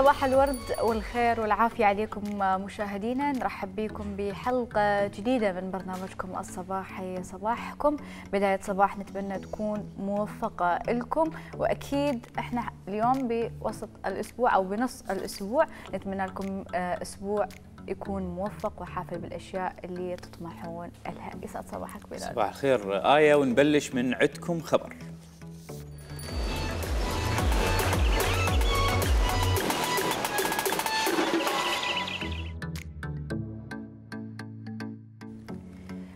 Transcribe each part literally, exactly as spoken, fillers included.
صباح الورد والخير والعافية عليكم مشاهدينا، نرحب بكم بحلقة جديدة من برنامجكم الصباحي صباحكم. بداية صباح نتمنى تكون موفقة لكم، وأكيد احنا اليوم بوسط الأسبوع أو بنص الأسبوع، نتمنى لكم أسبوع يكون موفق وحافل بالأشياء اللي تطمحون لها. يسعد صباحك بلال. صباح الخير آية، ونبلش من عندكم خبر.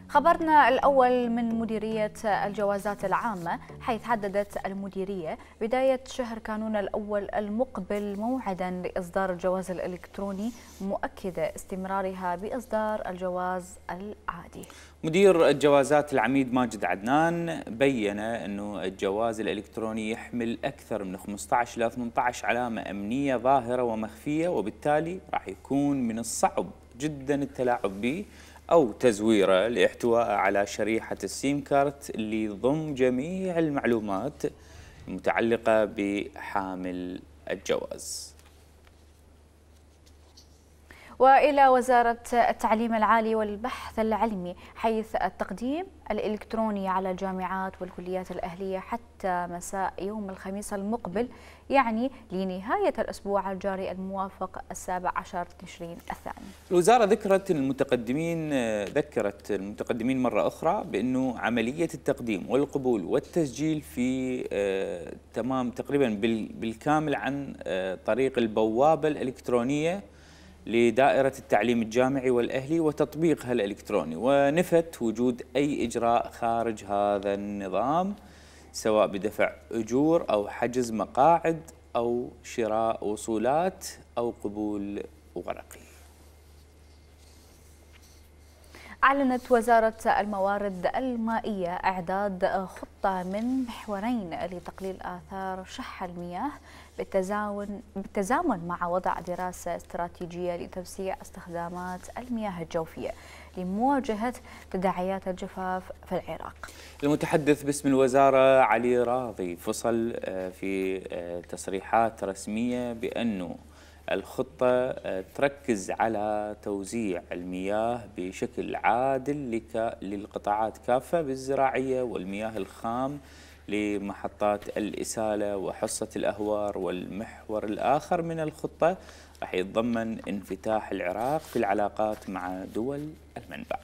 خبرنا الأول من مديرية الجوازات العامة، حيث حددت المديرية بداية شهر كانون الأول المقبل موعدا لإصدار الجواز الإلكتروني، مؤكدة استمرارها بإصدار الجواز العادي. مدير الجوازات العميد ماجد عدنان بين أنه الجواز الإلكتروني يحمل أكثر من خمسة عشر إلى ثمانية عشر علامة أمنية ظاهرة ومخفية، وبالتالي راح يكون من الصعب جدا التلاعب به أو تزويره لاحتوائه على شريحة السيم كارت اللي يضم جميع المعلومات المتعلقة بحامل الجواز. وإلى وزارة التعليم العالي والبحث العلمي، حيث التقديم الإلكتروني على الجامعات والكليات الأهلية حتى مساء يوم الخميس المقبل، يعني لنهاية الأسبوع الجاري الموافق السابع عشر تشرين الثاني. الوزارة ذكرت المتقدمين ذكرت المتقدمين مرة أخرى بأنه عملية التقديم والقبول والتسجيل في آه تمام تقريبا بالكامل عن آه طريق البوابة الإلكترونية لدائرة التعليم الجامعي والأهلي وتطبيقها الإلكتروني، ونفت وجود أي إجراء خارج هذا النظام، سواء بدفع أجور أو حجز مقاعد أو شراء وصولات أو قبول ورقي. أعلنت وزارة الموارد المائية إعداد خطة من محورين لتقليل آثار شح المياه بالتزامن بالتزامن مع وضع دراسة استراتيجية لتوسيع استخدامات المياه الجوفية لمواجهة تداعيات الجفاف في العراق. المتحدث باسم الوزارة علي راضي فصل في تصريحات رسمية بأنه الخطة تركز على توزيع المياه بشكل عادل للقطاعات كافة بالزراعية والمياه الخام لمحطات الإسالة وحصة الأهوار. والمحور الآخر من الخطة راح يتضمن انفتاح العراق في العلاقات مع دول المنبع.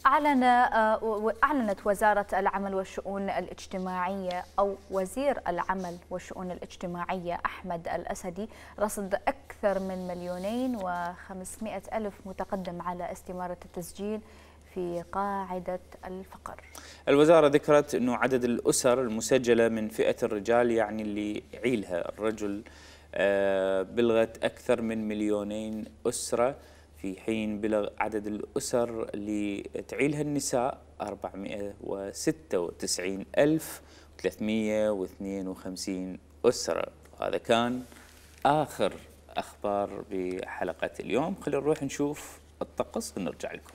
أعلن أعلنت وزارة العمل والشؤون الاجتماعية أو وزير العمل والشؤون الاجتماعية أحمد الأسدي رصد أكثر من مليونين وخمسمائة ألف متقدم على استمارة التسجيل في قاعدة الفقر. الوزارة ذكرت أنه عدد الأسر المسجلة من فئة الرجال، يعني اللي يعيلها الرجل، بلغت أكثر من مليونين أسرة، في حين بلغ عدد الأسر اللي تعيلها النساء أربعمائة وستة وتسعين ألف وثلاثمائة واثنين وخمسين أسرة. هذا كان آخر أخبار بحلقة اليوم. خلينا نروح نشوف الطقس ونرجع لكم.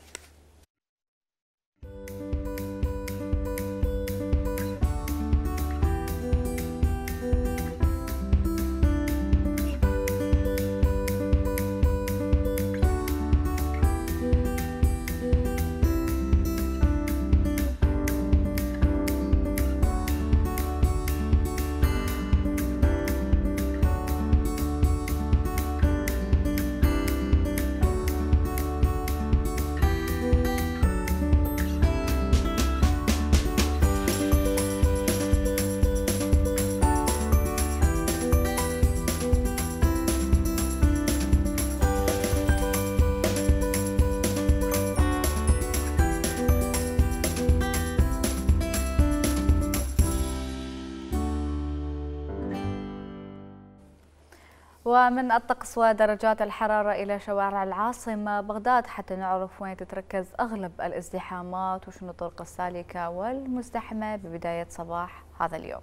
ومن الطقس ودرجات الحرارة إلى شوارع العاصمة بغداد حتى نعرف وين تتركز أغلب الازدحامات وشنو الطرق السالكة والمزدحمة ببداية صباح هذا اليوم.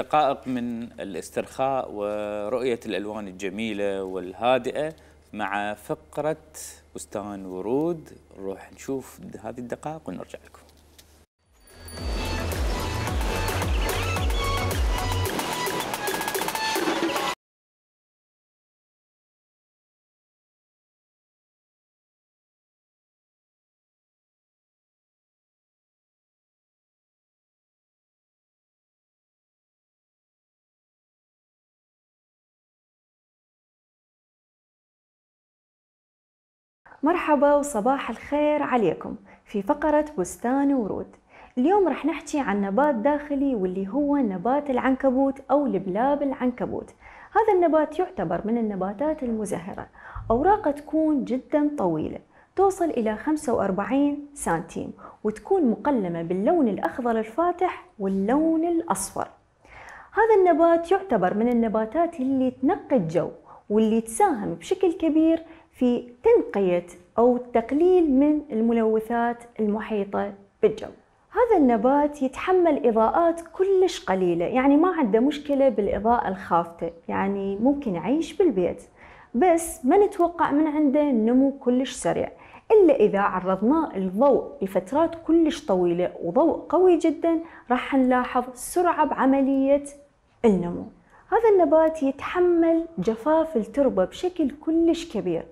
دقائق من الاسترخاء ورؤية الألوان الجميلة والهادئة مع فقرة بستان ورود. نروح نشوف هذه الدقائق ونرجع لكم. مرحبا وصباح الخير عليكم في فقرة بستان ورود. اليوم رح نحكي عن نبات داخلي واللي هو نبات العنكبوت أو لبلاب العنكبوت. هذا النبات يعتبر من النباتات المزهرة، أوراقه تكون جدا طويلة توصل إلى خمسة وأربعين سنتيم وتكون مقلمة باللون الأخضر الفاتح واللون الأصفر. هذا النبات يعتبر من النباتات اللي تنقي الجو واللي تساهم بشكل كبير في تنقية أو التقليل من الملوثات المحيطة بالجو. هذا النبات يتحمل إضاءات كلش قليلة، يعني ما عنده مشكلة بالإضاءة الخافتة، يعني ممكن يعيش بالبيت، بس ما نتوقع من عنده نمو كلش سريع إلا إذا عرضناه الضوء لفترات كلش طويلة وضوء قوي جدا راح نلاحظ سرعة بعملية النمو. هذا النبات يتحمل جفاف التربة بشكل كلش كبير،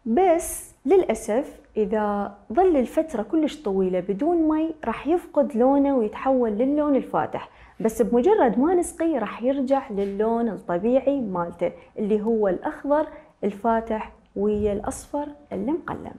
بس للأسف إذا ظل الفترة كلش طويلة بدون مي راح يفقد لونه ويتحول للون الفاتح، بس بمجرد ما نسقيه راح يرجع للون الطبيعي مالته اللي هو الأخضر الفاتح ويا الأصفر المقلم.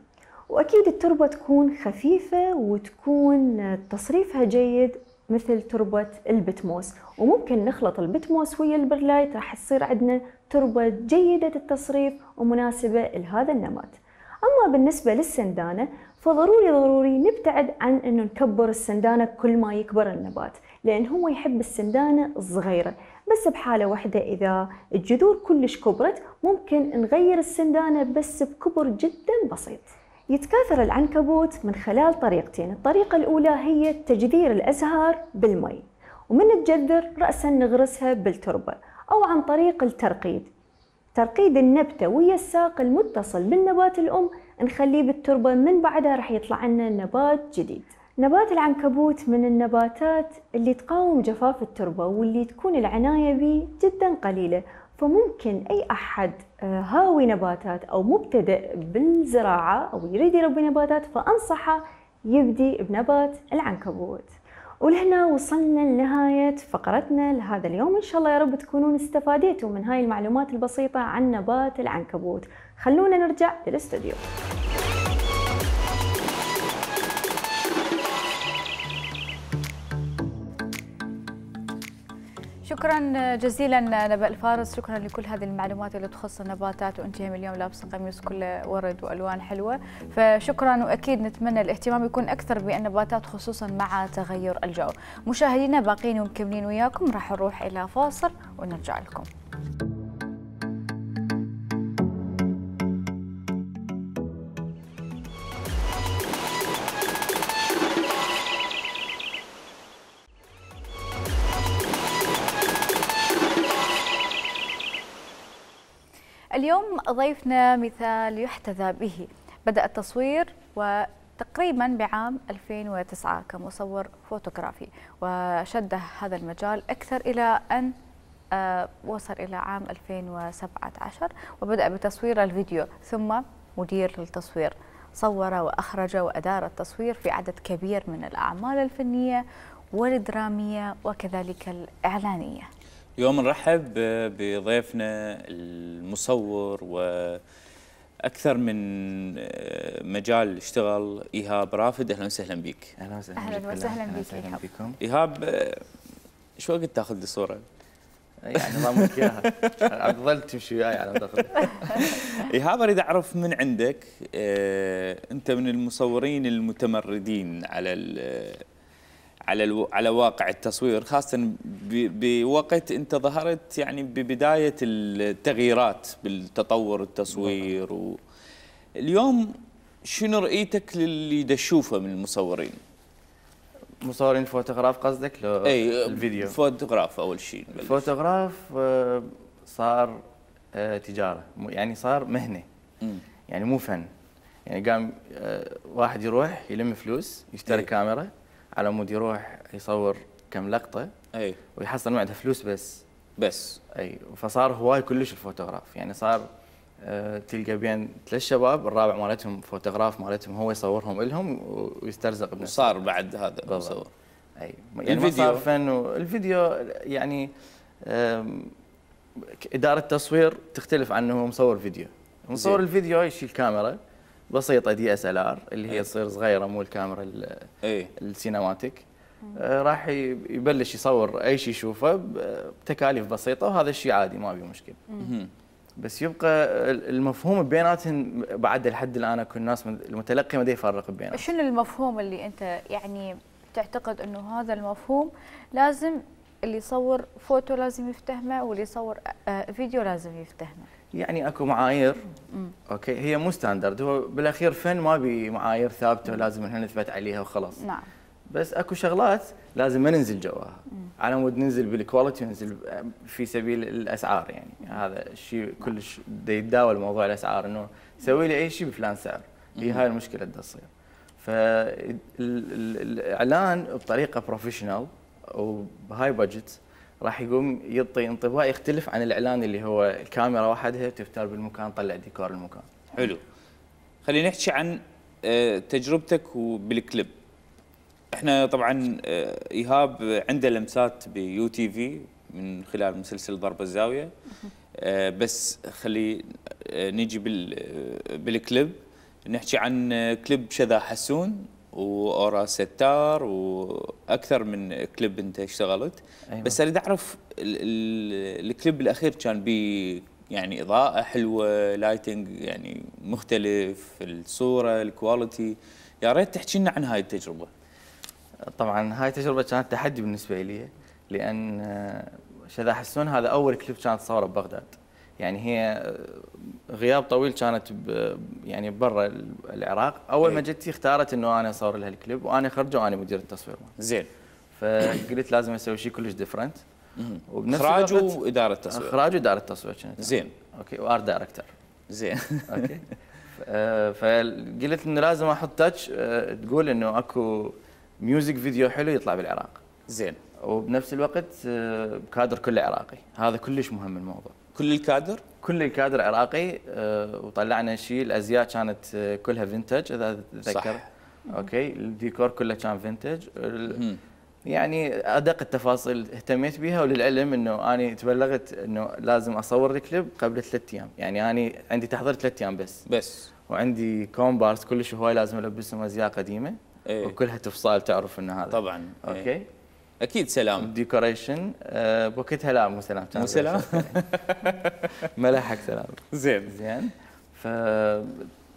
وأكيد التربة تكون خفيفة وتكون تصريفها جيد مثل تربة البتموس، وممكن نخلط البتموس ويا البرلايت راح تصير عندنا تربة جيدة التصريف ومناسبة لهذا النبات. أما بالنسبة للسندانة فضروري ضروري نبتعد عن أنه نكبر السندانة كل ما يكبر النبات، لأن هو يحب السندانة الصغيرة، بس بحالة واحدة إذا الجذور كلش كبرت ممكن نغير السندانة بس بكبر جدا بسيط. يتكاثر العنكبوت من خلال طريقتين، الطريقة الأولى هي تجذير الأزهار بالمي، ومن تجذر رأسا نغرسها بالتربة، أو عن طريق الترقيد، ترقيد النبتة ويا الساق المتصل بالنبات الأم نخليه بالتربة، من بعدها راح يطلع لنا نبات جديد. نبات العنكبوت من النباتات اللي تقاوم جفاف التربة واللي تكون العناية به جدا قليلة، فممكن أي أحد هاوي نباتات أو مبتدئ بالزراعة أو يريد يربي نباتات فأنصحه يبدي بنبات العنكبوت. ولهنا وصلنا لنهاية فقرتنا لهذا اليوم، إن شاء الله يا رب تكونون استفاديتوا من هاي المعلومات البسيطة عن نبات العنكبوت. خلونا نرجع للاستوديو. شكرا جزيلا نبأ الفارس، شكرا لكل هذه المعلومات اللي تخص النباتات، وانت هم اليوم لابسه قميص كله ورد والوان حلوه، فشكرا. واكيد نتمنى الاهتمام يكون اكثر بالنباتات خصوصا مع تغير الجو. مشاهدينا باقين ومكملين وياكم، راح نروح الى فاصل ونرجع لكم. اليوم ضيفنا مثال يحتذى به، بدأ التصوير وتقريبا بعام ألفين وتسعة كمصور فوتوغرافي، وشد هذا المجال أكثر إلى أن وصل إلى عام ألفين وسبعة عشر وبدأ بتصوير الفيديو، ثم مدير للتصوير، صور وأخرج وأدار التصوير في عدد كبير من الأعمال الفنية والدرامية وكذلك الإعلانية. اليوم نرحب بضيفنا المصور وأكثر من مجال اشتغل، إيهاب رافد. أهلا وسهلا بك. أهلا وسهلا أهلا وسهلا بك إيهاب. إيهاب. شو وقت تاخذ الصورة؟ يعني نظامك إياها أفضل تمشي وياي على دخل. إيهاب أريد أعرف من عندك، أنت من المصورين المتمردين على على على واقع التصوير، خاصة بوقت أنت ظهرت يعني ببداية التغييرات بالتطور التصوير. و اليوم شنو رؤيتك للي تشوفه من المصورين؟ مصورين فوتوغراف قصدك لو اي الفيديو؟ فوتوغراف اول شيء. الفوتوغراف آه، صار آه، تجاره، يعني صار مهنه. مم. يعني مو فن. يعني قام آه، واحد يروح يلم فلوس يشتري أي. كاميرا على مود يروح يصور كم لقطه اي ويحصل معده فلوس بس. بس اي فصار هواي كلش الفوتوغراف، يعني صار آه، تلقى بين ثلاث شباب الرابع مالتهم فوتوغراف مالتهم هو يصورهم لهم ويسترزق بنفسه. وصار بعد هذا بالضبط. مصور. اي يعني ما الفيديو؟ صار فن. الفيديو يعني آم، اداره تصوير تختلف عن انه مصور فيديو. مصور زين. الفيديو يشيل كاميرا بسيطه دي اس ال ار اللي هي أي. تصير صغيره مو الكاميرا ال- اي السينماتيك. آه، راح ي- يبلش يصور اي شيء يشوفه بتكاليف بسيطه وهذا الشيء عادي ما بيه مشكله. مهم. بس يبقى المفهوم بيناتهم بعد لحد الان اكو الناس من- المتلقي ما دا يفرق بيناتهم. شنو المفهوم اللي انت يعني تعتقد انه هذا المفهوم لازم اللي يصور فوتو لازم يفتهمه واللي يصور آه، فيديو لازم يفتهمه؟ يعني اكو معايير مم. اوكي هي مو ستاندرد، هو بالاخير فن ما بي معايير ثابته ولازم احنا نثبت عليها وخلاص. نعم. بس اكو شغلات لازم ما ننزل جواها على مود ننزل بالكواليتي وننزل في سبيل الاسعار. يعني هذا الشيء كلش دا يتداول موضوع الاسعار انه سوي لي اي شيء بفلان سعر. هي هاي المشكله اللي تصير. فالاعلان بطريقه بروفيشنال وبهاي بادجت راح يقوم يعطي انطباع يختلف عن الاعلان اللي هو الكاميرا وحدها تفتر بالمكان طلع ديكور المكان. حلو. خلينا نحكي عن آه، تجربتك وبالكليب. احنا طبعا آه، ايهاب عنده لمسات بيو تي في من خلال مسلسل ضرب الزاويه. آه، بس خلي آه، نيجي بال آه، بالكليب نحكي عن آه، كليب شذا حسون واورا ستار واكثر من كليب انت اشتغلت. أيوة. بس اريد اعرف ال- ال- الكليب الاخير كان بي يعني اضاءه حلوه، لايتنج يعني مختلف، الصوره، الكواليتي. يا ريت تحكي لنا عن هاي التجربه. طبعا هاي تجربه كانت تحدي بالنسبه لي لان آه، شذا حسون هذا اول كليب كانت تصوره ببغداد. يعني هي آه، غياب طويل كانت ب- يعني برا العراق. اول ما أي. جتي اختارت انه انا اصور لها الكليب وانا خرجه وانا مدير التصوير مالها. زين. فقلت لازم اسوي شيء كلش ديفرنت. مهم. وبنفس اخراج الوقت واداره تصوير. اخراج واداره تصوير كانت. زين. اوكي وارت دايركتور. زين. اوكي ف- آه، فقلت انه لازم احط تاتش آه، تقول انه اكو ميوزك فيديو حلو يطلع بالعراق. زين. وبنفس الوقت آه، كادر كله عراقي. هذا كلش مهم الموضوع. كل الكادر؟ كل الكادر عراقي. آه، وطلعنا شيء الازياء كانت آه، كلها فينتج اذا تتذكر. صح. اوكي الديكور كله كان فينتج. ال- مهم. يعني ادق التفاصيل اهتميت بها. وللعلم انه انا تبلغت انه لازم اصور الكليب قبل ثلاث ايام. يعني انا عندي تحضير ثلاث ايام بس. بس. وعندي كومبارس كلش هواي لازم البسهم ازياء قديمه. ايه. وكلها تفصال تعرف انه هذا. طبعا. اوكي. إيه. اكيد سلام. الديكوريشن آه بوقتها لا مو سلام كان مو سلام؟ ملحق سلام. زين. زين. ف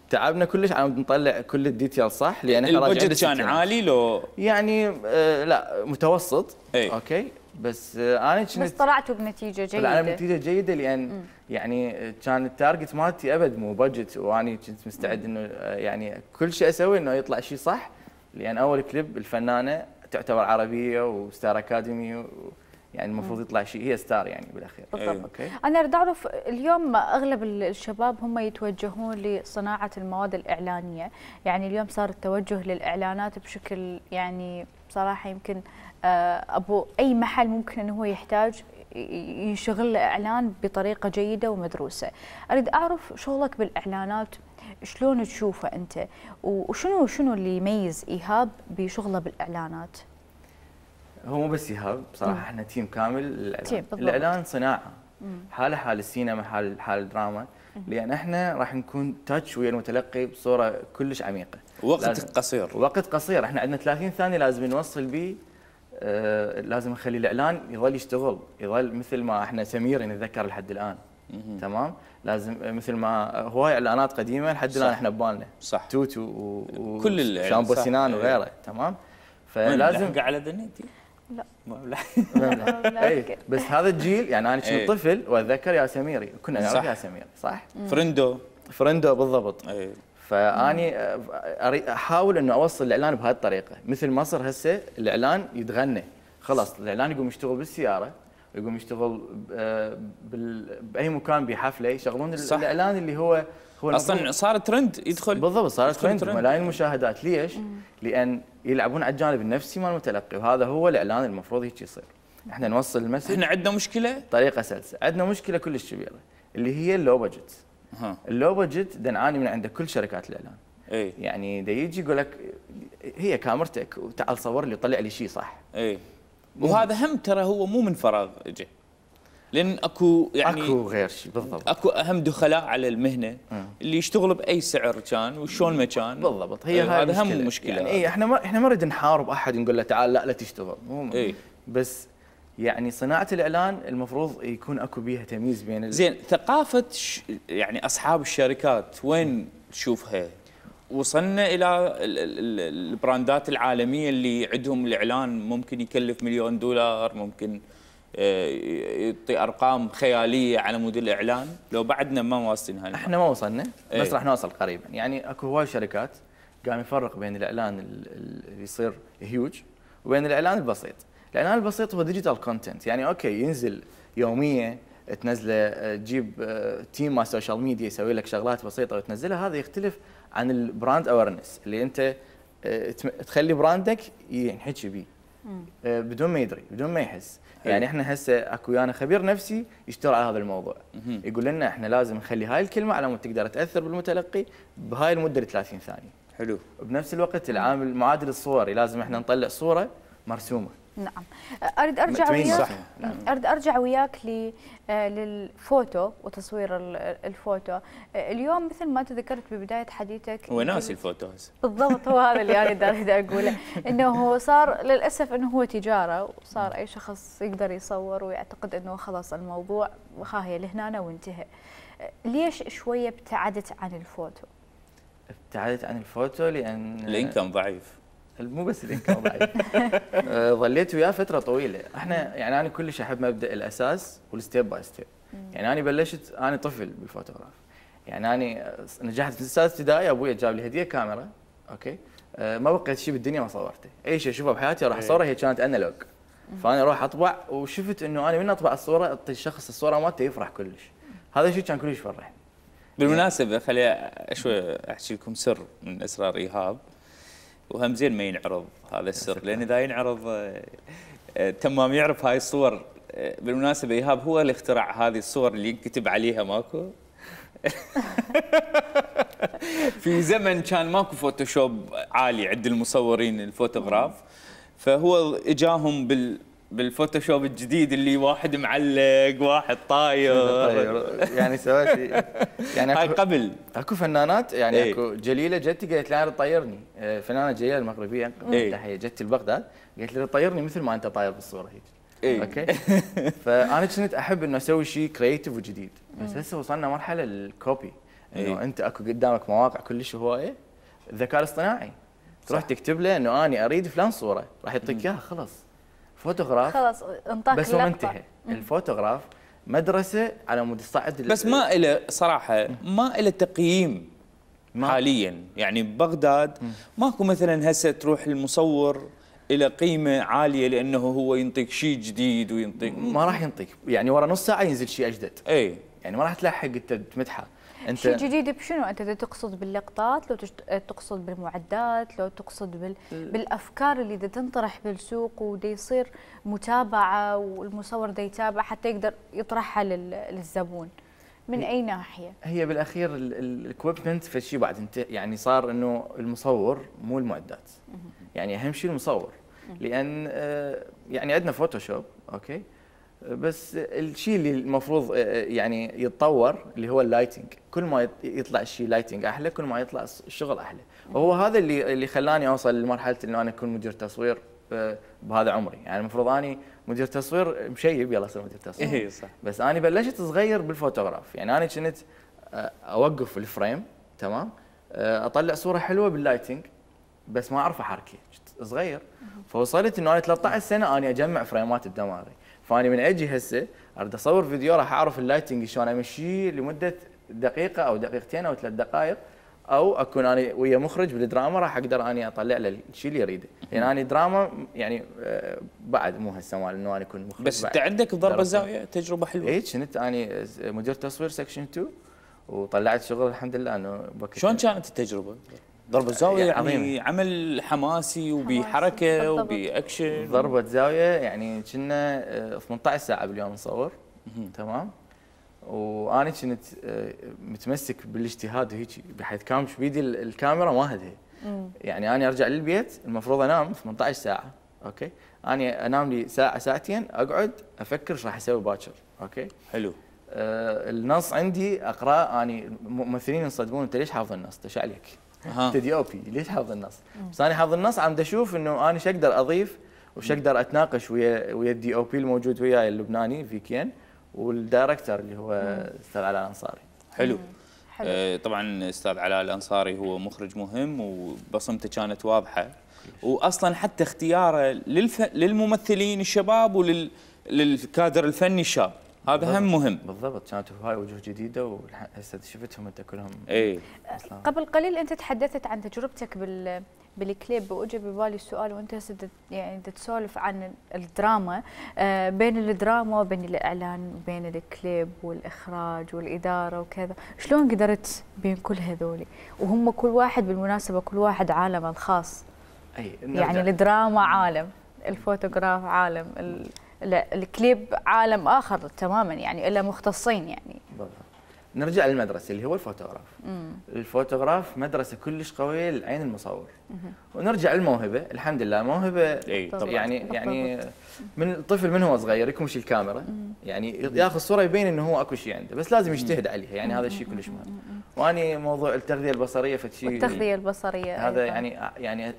تعبنا كلش على نطلع كل الديتيل صح لان احنا راجعين البجت كان للستينات. عالي لو؟ يعني آه لا متوسط. اي. اوكي بس آه انا بس كنت طلعتوا بنتيجه طلعنا جيده. بنتيجه جيده لان يعني كان التارجت مالتي ابد مو بادجت واني كنت مستعد انه آه، يعني كل شيء اسوي انه يطلع شيء صح. لان اول كليب الفنانه تعتبر عربيه وستار اكاديمي و يعني المفروض يطلع شيء هي ستار يعني بالاخير. بالضبط. اوكي. انا اريد اعرف اليوم اغلب ال- الشباب هم يتوجهون لصناعه المواد الاعلانيه، يعني اليوم صار التوجه للاعلانات بشكل يعني بصراحه يمكن آه، ابو اي محل ممكن انه هو يحتاج ي- يشغل له اعلان بطريقه جيده ومدروسه. اريد اعرف شغلك بالاعلانات شلون تشوفه انت، وشنو شنو اللي يميز ايهاب بشغله بالاعلانات؟ هو مو بس ايهاب بصراحه احنا تيم كامل للاعلان. تيم بالضبط. الاعلان صناعه حاله حال السينما حال حال الدراما. لان احنا راح نكون تاتش ويا المتلقي بصوره كلش عميقه. وقت لازم- قصير. وقت قصير. احنا عندنا ثلاثين ثانيه لازم نوصل به. آه لازم نخلي الاعلان يظل يشتغل يظل مثل ما احنا سمير نتذكر لحد الان. تمام. لازم مثل ما هواي اعلانات قديمه لحد الان صح. احنا ببالنا. صح. توتو و- و كل الإعلان، شامبو صح. سنان إيه. وغيره. تمام. لازم فلازم على ذنيتي. لا. ما أبلع. اي بس هذا الجيل يعني انا إيه. كنت طفل واتذكر يا سميري كنا نعرف صح. يا سمير صح؟ فرندو. فرندو بالضبط. اي. فاني أري- احاول انه اوصل الاعلان بهذه الطريقه، مثل مصر هسه الاعلان يتغنى، خلاص الاعلان يقوم يشتغل بالسياره، يقوم يشتغل ب- بال- باي مكان بحفله يشغلون صح. الاعلان اللي هو هو اصلا المفروض- صار ترند يدخل بالضبط صارت يدخل ترند ترند. ملايين المشاهدات. ليش؟ لان يلعبون على الجانب النفسي مال المتلقي، وهذا هو الاعلان المفروض هيك يصير. احنا نوصل المسج احنا عندنا مشكله. بطريقه سلسه، عندنا مشكله كلش كبيره اللي هي اللو بجت. ها اللو بجت دا نعاني من عند كل شركات الاعلان. اي يعني دا يجي يقول لك هي كاميرتك وتعال صور لي طلع لي شيء صح. اي وهذا هم ترى هو مو من فراغ اجى، لان اكو يعني اكو غير شيء بالضبط. اكو اهم دخلاء على المهنه مم. اللي يشتغلوا باي سعر كان وشلون ما كان. بالضبط هي أيوة، هاي هذا هم المشكلة. مشكله يعني إيه احنا ما احنا ما نريد نحارب احد نقول له تعال لا لا تشتغل، مو اي بس يعني صناعه الاعلان المفروض يكون اكو بيها تمييز بين ال... زين. ثقافه ش... يعني اصحاب الشركات وين تشوفها؟ وصلنا الى ال- ال- ال- البراندات العالميه اللي عندهم الاعلان ممكن يكلف مليون دولار، ممكن آه، يعطي ارقام خياليه على مود الاعلان. لو بعدنا ما واصلين هاي احنا ما وصلنا بس إيه. راح نوصل قريبا. يعني اكو هواي شركات قام يفرق بين الاعلان ال- ال- اللي يصير هيوج وبين الاعلان البسيط. الاعلان البسيط هو ديجيتال كونتنت، يعني اوكي ينزل يوميا تنزله، آه، تجيب آه، تيم مال سوشيال ميديا يسوي لك شغلات بسيطه وتنزلها. هذا يختلف عن البراند اويرنس اللي انت آه، تم- تخلي براندك ينحكي بيه آه، بدون ما يدري بدون ما يحس. حلو. يعني احنا هسه اكو ويانا خبير نفسي يشتغل على هذا الموضوع، مهم. يقول لنا احنا لازم نخلي هاي الكلمه على مود تقدر تاثر بالمتلقي بهاي المده ال ثلاثين ثانيه. حلو. بنفس الوقت العامل معادل الصوري لازم احنا نطلع صوره مرسومه. نعم. اريد ارجع تبين وياك صح. نعم. اريد ارجع وياك ل آه، للفوتو وتصوير ال- الفوتو. آه، اليوم مثل ما انت ذكرت ببدايه حديثك هو ناسي الفوتو هسه. بالضبط، هو هذا اللي انا اريد اقوله، انه هو صار للاسف انه هو تجاره، وصار اي شخص يقدر يصور ويعتقد انه خلاص الموضوع ها هي لهنا وانتهى. آه، ليش شويه ابتعدت عن الفوتو؟ ابتعدت عن الفوتو لان الانكم ضعيف. مو بس الانكم ضعيف. آه، ظليت وياه فتره طويله. احنا يعني انا كلش احب مبدا الاساس والستيب باي ستيب. يعني انا بلشت انا طفل بالفوتوغراف. يعني انا نجحت في السادس ابتدائي، ابوي جاب لي هديه كاميرا، اوكي. آه، ما بقيت شيء بالدنيا ما صورته، اي شيء اشوفه بحياتي راح اصوره. هي كانت انالوج، فانا اروح اطبع، وشفت انه انا من اطبع الصوره اعطي الشخص الصوره مالته يفرح كلش. هذا الشيء كان كلش يفرحني. بالمناسبه خلي شوي احكي لكم سر من اسرار ايهاب، وهم زين ما ينعرض هذا السر، لان اذا ينعرض آه، آه، تمام يعرف هاي الصور. آه، بالمناسبه ايهاب هو اللي اخترع هذه الصور اللي ينكتب عليها ماكو. في زمن كان ماكو فوتوشوب عالي عند المصورين الفوتوغراف، فهو اجاهم بال بالفوتوشوب الجديد اللي واحد معلق واحد طاير. طيب يعني سويت يعني هاي أكو- قبل. اكو فنانات يعني إيه. اكو جليله جتي قالت لي انا تطيرني، آه، فنانه جليله المغربيه إيه. تحيه جتي لبغداد، قالت لي طيرني مثل ما انت طاير بالصوره هيك. إيه. اوكي. فانا كنت احب انه اسوي شيء كرييتيف وجديد، بس هسه وصلنا مرحله الكوبي، انه إيه. انت اكو قدامك مواقع كلش هوايه، الذكاء الاصطناعي تروح تكتب له انه اني اريد فلان صوره راح يعطيك اياها خلاص. فوتوغراف خلاص انطاك بس هو اللقطة. منتهى. الفوتوغراف مدرسه على مود تصعد بس ما إله صراحه ما إله تقييم ما- حاليا. يعني ببغداد ماكو مثلا هسه تروح المصور الى قيمه عاليه لانه هو ينطيك شيء جديد وينطيك ما راح ينطيك، يعني ورا نص ساعه ينزل شيء اجدد، اي. يعني ما راح تلحق انت تمدحه. انت شيء جديد بشنو؟ انت إذا تقصد باللقطات، لو تشت- تقصد بالمعدات، لو تقصد بال... بالافكار اللي دا تنطرح بالسوق ودا يصير متابعه والمصور دا يتابع حتى يقدر يطرحها لل... للزبون. من اي ناحيه؟ هي بالاخير الاكويبمنت في شيء بعد انت يعني صار انه المصور مو المعدات، يعني اهم شيء المصور، لان آه، يعني عندنا فوتوشوب اوكي، بس الشيء اللي المفروض آه، يعني يتطور اللي هو اللايتنج. كل ما يط- يطلع الشيء لايتنج احلى كل ما يطلع الشغل احلى. وهو هذا اللي اللي خلاني اوصل لمرحله انه انا اكون مدير تصوير آه، بهذا عمري. يعني المفروض اني مدير تصوير مشيب يلا صير مدير تصوير. اي صح. بس انا بلشت صغير بالفوتوغراف، يعني انا كنت آه، اوقف الفريم تمام، آه، اطلع صوره حلوه باللايتنج بس ما اعرف احركها، كنت صغير. فوصلت انه انا ثلاثة عشر سنه اني اجمع فريمات بدماغي، فاني من اجي هسه اريد اصور فيديو راح اعرف اللايتنج شلون امشيه لمده دقيقه او دقيقتين او ثلاث دقائق، او اكون انا ويا مخرج بالدراما راح اقدر اني اطلع له الشيء اللي يريده، لان يعني انا دراما يعني بعد مو هسه مال انه انا اكون مخرج. بس انت عندك بضرب الزاويه تجربه حلوه. اي كنت اني مدير تصوير سكشن اثنين وطلعت شغل الحمد لله انه شلون كانت التجربه؟ ضربة زاوية يعني عظيمة. عمل حماسي وبحركة وبأكشن. ضربة زاوية يعني كنا ثمانية عشر ساعة باليوم نصور تمام، وانا كنت متمسك بالاجتهاد وهيك بحيث كانش بيدي الكاميرا ما هدها. يعني انا ارجع للبيت المفروض انام ثمانية عشر ساعة اوكي، انا انام لي ساعة ساعتين اقعد افكر ايش راح اسوي باكر اوكي. حلو. آه النص عندي اقراه، اني ممثلين ينصدمون انت ليش حافظ النص؟ ايش عليك؟ انت دي او بي ليش حافظ النص؟ بس انا حافظ النص عم اشوف انه انا ايش اقدر اضيف وش اقدر اتناقش ويا ويا الدي او بي الموجود وياي اللبناني فيكين والدايركتور اللي هو استاذ علاء الانصاري. حلو. حلو. آه طبعا استاذ علاء الانصاري هو مخرج مهم وبصمته كانت واضحه، واصلا حتى اختياره للف... للممثلين الشباب ولل للكادر الفني الشاب هذا هم مهم. بالضبط، كانت هاي وجوه جديده وهسه شفتهم انت كلهم. اي قبل قليل انت تحدثت عن تجربتك بال بالكليب، واجى ببالي السؤال وانت هسه يعني تسولف عن الدراما، آه بين الدراما وبين الاعلان وبين الكليب والاخراج والاداره وكذا، شلون قدرت بين كل هذول وهم كل واحد بالمناسبه كل واحد عالمه الخاص؟ اي يعني الدراما عالم، الفوتوغراف عالم، الكليب عالم اخر تماما، يعني الا مختصين يعني. بالضبط. نرجع للمدرسه اللي هو الفوتوغراف. مم. الفوتوغراف مدرسه كلش قويه للعين المصور. مم. ونرجع للموهبه، الحمد لله موهبه يعني بالضبط. يعني من الطفل من هو صغير يكمش الكاميرا، مم. يعني ياخذ صوره يبين انه هو اكو شيء عنده، بس لازم يجتهد عليها، يعني هذا الشيء كلش مهم. واني موضوع التغذيه البصريه فشيء التغذيه البصريه هذا أيضا. يعني يعني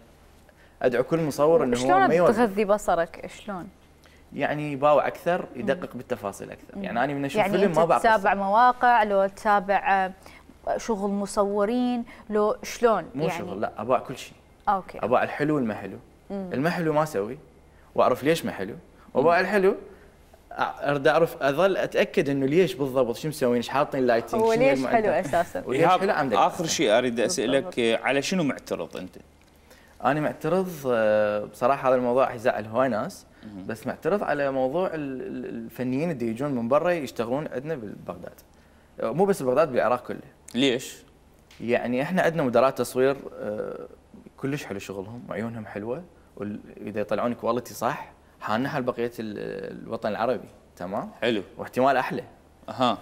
ادعو كل مصور انه هو ما شلون تغذي بصرك؟ شلون؟ يعني يباوع اكثر، يدقق بالتفاصيل اكثر. مم. يعني انا من اشوف يعني فيلم ما بعرف تتابع مواقع، لو تتابع شغل مصورين، لو شلون مو يعني؟ شغل لا، اباع كل شيء. اوكي. اباع الحلو والما حلو. الما حلو ما اسوي واعرف ليش ما حلو، واباع الحلو اريد اعرف اظل اتاكد انه ليش بالضبط شو مسوين، ايش حاطين لايتنج، هو ليش حلو اساسا. وليش حلو عندك. اخر شيء اريد اسالك على شنو معترض انت؟ انا معترض بصراحه، هذا الموضوع يزعل هواي ناس، بس معترض على موضوع الفنيين اللي يجون من برا يشتغلون عندنا ببغداد، مو بس ببغداد بالعراق كله. ليش؟ يعني احنا عندنا مدراء تصوير كلش حلو شغلهم وعيونهم حلوه، واذا يطلعون كواليتي صح حالنا حال بقيه الوطن العربي تمام. حلو. واحتمال احلى. اها.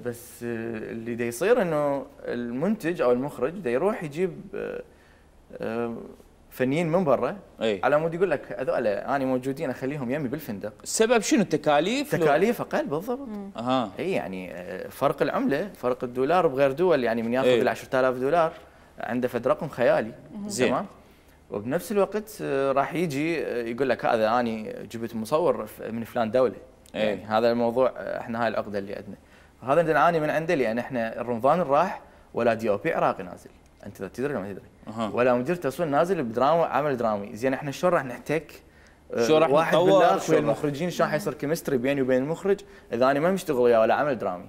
بس اللي دا يصير انه المنتج او المخرج دا يروح يجيب فنيين من برا أي. على مود يقول لك هذول انا موجودين اخليهم يمي بالفندق. السبب شنو؟ التكاليف؟ تكاليف اقل بالضبط. اها. اي يعني فرق العمله، فرق الدولار بغير دول، يعني من ياخذ ال عشرة آلاف دولار عنده فد رقم خيالي. زين. تمام. وبنفس الوقت راح يجي يقول لك هذا اني جبت مصور من فلان دوله. أي. يعني هذا الموضوع احنا هاي العقده اللي عندنا. هذا اللي نعاني من عنده، لان احنا رمضان راح ولا دي او بي عراقي نازل، انت تدري ولا ما تدري؟ أه. ولا مدير تصوير نازل بدراما عمل درامي. زين احنا شلون راح نحتك؟ شو راح واحد بالاخ ويا المخرجين، شلون حيصير كيمستري بيني وبين المخرج اذا انا ما مشتغل وياه ولا عمل درامي؟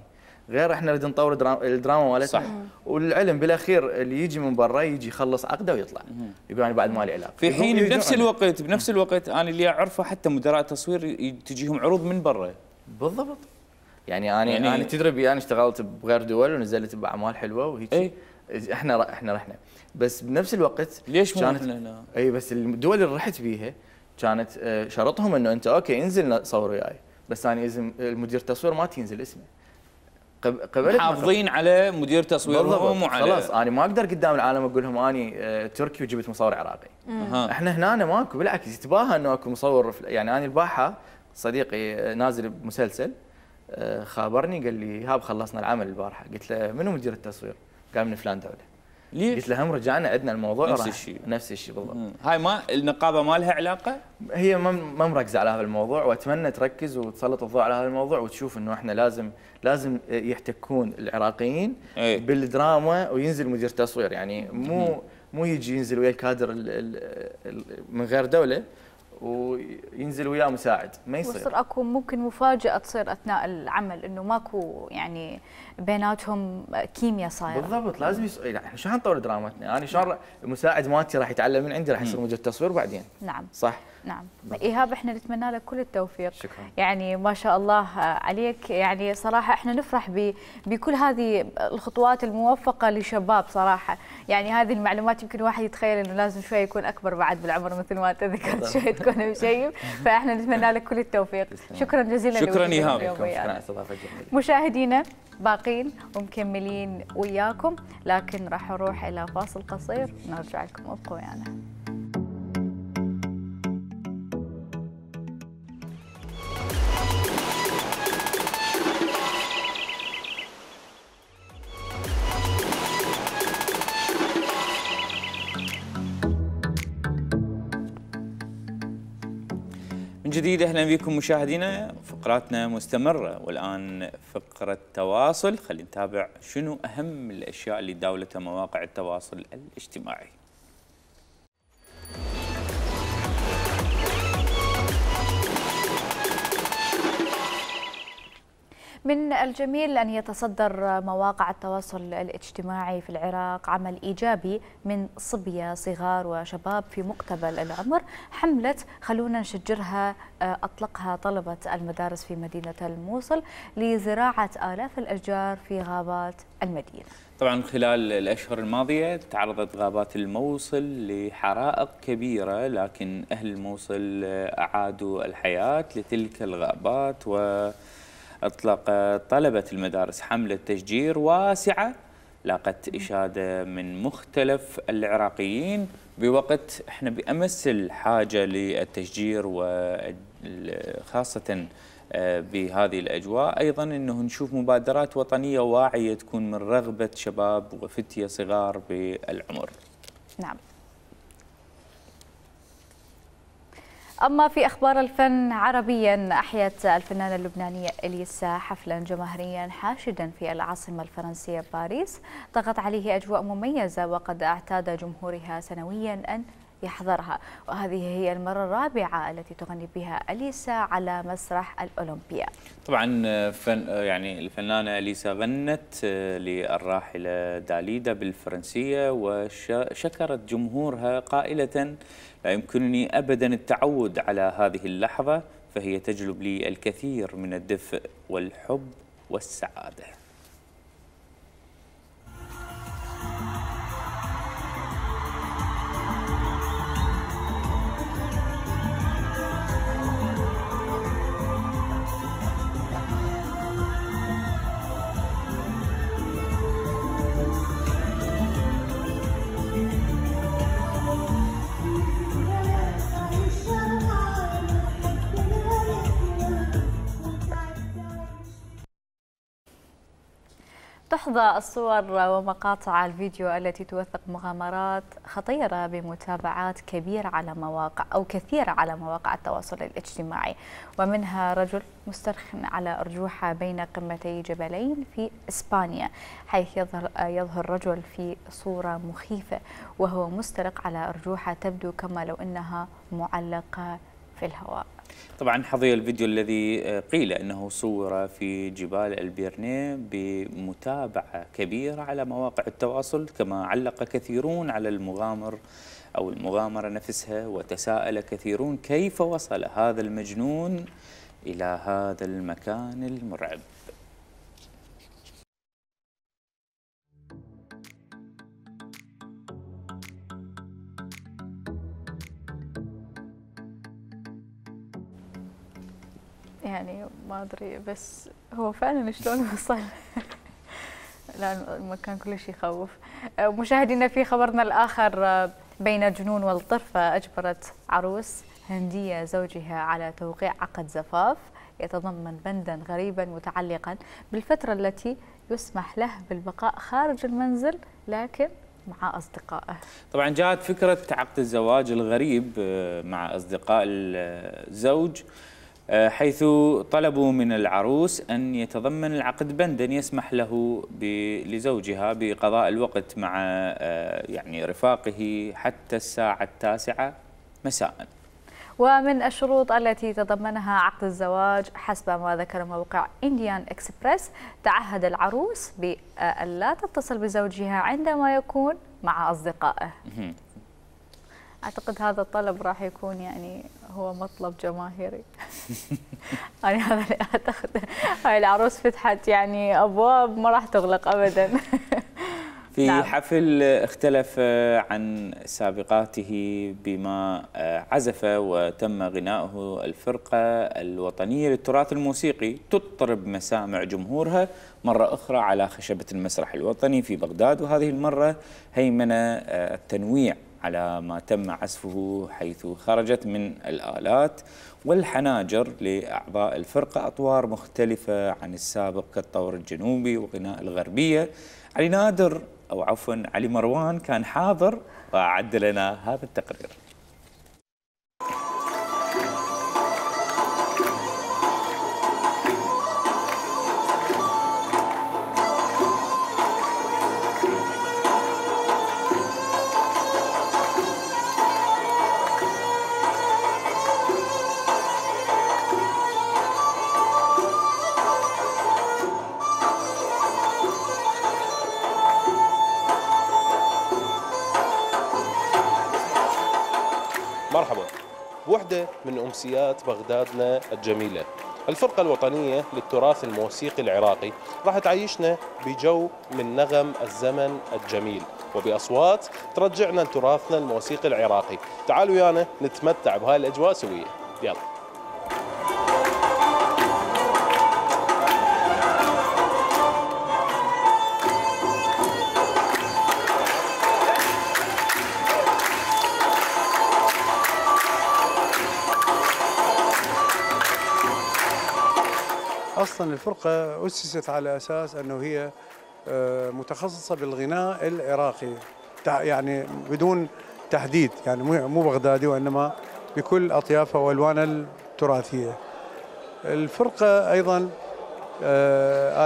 غير احنا نريد نطور الدراما مالتنا. صح. والعلم بالاخير اللي يجي من برا يجي يخلص عقده ويطلع يقول انا بعد مالي علاقه. في حين بنفس الوقت بنفس الوقت انا اللي اعرفه حتى مدراء تصوير تجيهم عروض من برا. بالضبط. يعني انا يعني انا تدري انا اشتغلت بغير دول ونزلت باعمال حلوه وهيك. اي احنا احنا رحنا، بس بنفس الوقت ليش مو كانت احنا؟ اي بس الدول اللي رحت بيها كانت شرطهم انه انت اوكي انزل صور وياي، بس انا لازم المدير التصوير ما تنزل اسمه. قبل حافظين على مدير تصويرهم وعلى خلاص انا ما اقدر قدام العالم اقول لهم اني تركي وجبت مصور عراقي. أه. احنا هنا أنا ماكو، بالعكس يتباهى انه اكو مصور. يعني انا الباحه صديقي نازل بمسلسل خابرني قال لي هاب خلصنا العمل البارحه، قلت له منو مدير التصوير؟ قال من فلان دوله. ليش؟ قلت له هم رجعنا عندنا الموضوع نفس الشيء نفس الشيء بالضبط. هاي ما النقابه ما لها علاقه؟ هي ما مركزه على هذا الموضوع، واتمنى تركز وتسلط الضوء على هذا الموضوع وتشوف انه احنا لازم لازم يحتكون العراقيين أي. بالدراما وينزل مدير تصوير. يعني مو مو يجي ينزل ويا الكادر ال ال ال من غير دوله وينزل وياه مساعد، ما يصير. ويصير اكو ممكن مفاجاه تصير اثناء العمل، انه ماكو يعني بيناتهم كيمياء صايره. بالضبط، لازم يس... يعني شلون نطور درامتنا؟ انا شلون المساعد مالتي راح يتعلم من عندي، راح يصير مدير تصوير بعدين. نعم صح. نعم. ايهاب احنا نتمنى لك كل التوفيق. شكرا. يعني ما شاء الله عليك، يعني صراحه احنا نفرح ب... بكل هذه الخطوات الموفقه لشباب صراحه. يعني هذه المعلومات يمكن واحد يتخيل انه لازم شوي يكون اكبر بعد بالعمر مثل ما انت ذكرت، شوي تكون مشيب، فاحنا نتمنى لك كل التوفيق. شكرا جزيلا. شكرا ايهاب. شكرا استضافه جميله. مشاهدينا باقين ومكملين وياكم، لكن راح نروح الى فاصل قصير نرجع لكم، ابقوا ويانا. من جديد اهلا بكم مشاهدينا، فقراتنا مستمره، والان فقره تواصل. خلينا نتابع شنو اهم الاشياء اللي داولتها مواقع التواصل الاجتماعي. من الجميل أن يتصدر مواقع التواصل الاجتماعي في العراق عمل إيجابي من صبية صغار وشباب في مقتبل العمر، حملة خلونا نشجرها أطلقها طلبة المدارس في مدينة الموصل لزراعة آلاف الأشجار في غابات المدينة. طبعا خلال الأشهر الماضية تعرضت غابات الموصل لحرائق كبيرة، لكن أهل الموصل أعادوا الحياة لتلك الغابات، و أطلق طلبة المدارس حملة تشجير واسعة لاقت إشادة من مختلف العراقيين، بوقت احنا بأمس الحاجة للتشجير، وخاصة بهذه الأجواء أيضا أنه نشوف مبادرات وطنية واعية تكون من رغبة شباب وفتية صغار بالعمر. نعم. أما في أخبار الفن عربيا، أحيت الفنانة اللبنانية إليسا حفلا جماهيريا حاشدا في العاصمة الفرنسية باريس، طغت عليه أجواء مميزة وقد اعتاد جمهورها سنويا أن يحضرها، وهذه هي المرة الرابعة التي تغني بها إليسا على مسرح الأولمبيا. طبعا فن يعني الفنانة إليسا غنت للراحلة داليدا بالفرنسية، وشكرت جمهورها قائلة: لا يمكنني أبدا التعود على هذه اللحظة، فهي تجلب لي الكثير من الدفء والحب والسعادة. تحظى الصور ومقاطع الفيديو التي توثق مغامرات خطيرة بمتابعات كبيرة على مواقع أو كثيرة على مواقع التواصل الاجتماعي، ومنها رجل مسترخٍ على أرجوحة بين قمتي جبلين في إسبانيا، حيث يظهر يظهر رجل في صورة مخيفة وهو مستلق على أرجوحة تبدو كما لو أنها معلقة في الهواء. طبعا حظي الفيديو الذي قيل أنه صور في جبال البيرنيه بمتابعة كبيرة على مواقع التواصل، كما علق كثيرون على المغامر أو المغامرة نفسها، وتساءل كثيرون كيف وصل هذا المجنون إلى هذا المكان المرعب. يعني ما أدري، بس هو فعلا شلون وصل؟ لا المكان كل شيء يخوف. مشاهدينا في خبرنا الآخر، بين الجنون والطرفة أجبرت عروس هندية زوجها على توقيع عقد زفاف يتضمن بندا غريبا متعلقا بالفترة التي يسمح له بالبقاء خارج المنزل لكن مع أصدقائه. طبعا جاءت فكرة عقد الزواج الغريب مع أصدقاء الزوج، حيث طلبوا من العروس أن يتضمن العقد بندا يسمح له لزوجها بقضاء الوقت مع يعني رفاقه حتى الساعة التاسعة مساء. ومن الشروط التي تضمنها عقد الزواج حسب ما ذكر موقع إنديان إكسبرس تعهد العروس بألا تتصل بزوجها عندما يكون مع أصدقائه. أعتقد هذا الطلب راح يكون يعني هو مطلب جماهيري. يعني هذا اللي أعتقد. هاي العروس فتحت يعني أبواب ما راح تغلق أبدا. في نعم. حفل اختلف عن سابقاته بما عزف وتم غناؤه الفرقة الوطنية للتراث الموسيقي تطرب مسامع جمهورها مرة أخرى على خشبة المسرح الوطني في بغداد، وهذه المرة هيمن التنويع على ما تم عزفه، حيث خرجت من الآلات والحناجر لأعضاء الفرقة أطوار مختلفة عن السابق كالطور الجنوبي وغناء الغربية. علي نادر أو عفوا علي مروان كان حاضر وأعد لنا هذا التقرير. مرحبا. بوحدة من أمسيات بغدادنا الجميلة، الفرقة الوطنية للتراث الموسيقي العراقي راح تعيشنا بجو من نغم الزمن الجميل وبأصوات ترجعنا لتراثنا الموسيقي العراقي. تعالوا ويانا نتمتع بهاي الأجواء سوية. يلا. أصلا الفرقة أسست على أساس أنه هي متخصصة بالغناء العراقي، يعني بدون تحديد، يعني مو بغدادي وإنما بكل أطيافها وألوانها التراثية. الفرقة أيضا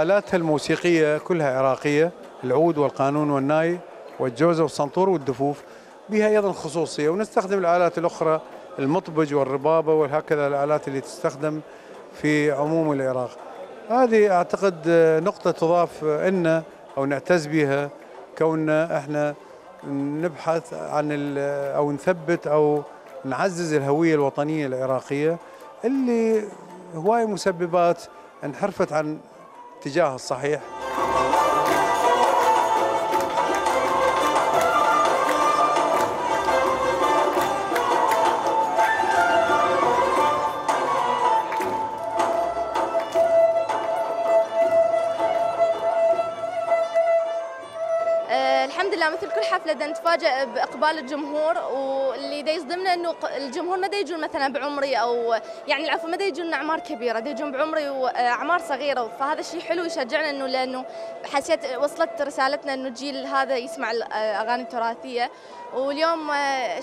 آلاتها الموسيقية كلها عراقية، العود والقانون والناي والجوزة والسنطور والدفوف، بها أيضا خصوصية. ونستخدم الآلات الأخرى المطبج والربابة وهكذا الآلات اللي تستخدم في عموم العراق. هذه أعتقد نقطة تضاف لنا أو نعتز بها، كوننا احنا نبحث عن أو نثبت أو نعزز الهوية الوطنية العراقية اللي هواي مسببات انحرفت عن اتجاهها الصحيح. الحمد لله مثل كل حفله دا نتفاجئ باقبال الجمهور، واللي دا يصدمنا انه الجمهور ما دا يجون مثلا بعمري او يعني العفو ما دا يجون اعمار كبيره، دا يجون بعمري واعمار صغيره، فهذا الشيء حلو يشجعنا انه لانه حسيت وصلت رسالتنا انه الجيل هذا يسمع الاغاني التراثيه. واليوم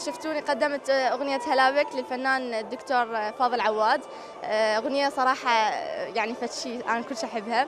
شفتوني قدمت اغنيه هلابك للفنان الدكتور فاضل عواد، اغنيه صراحه يعني فتشي انا كل شيء احبها.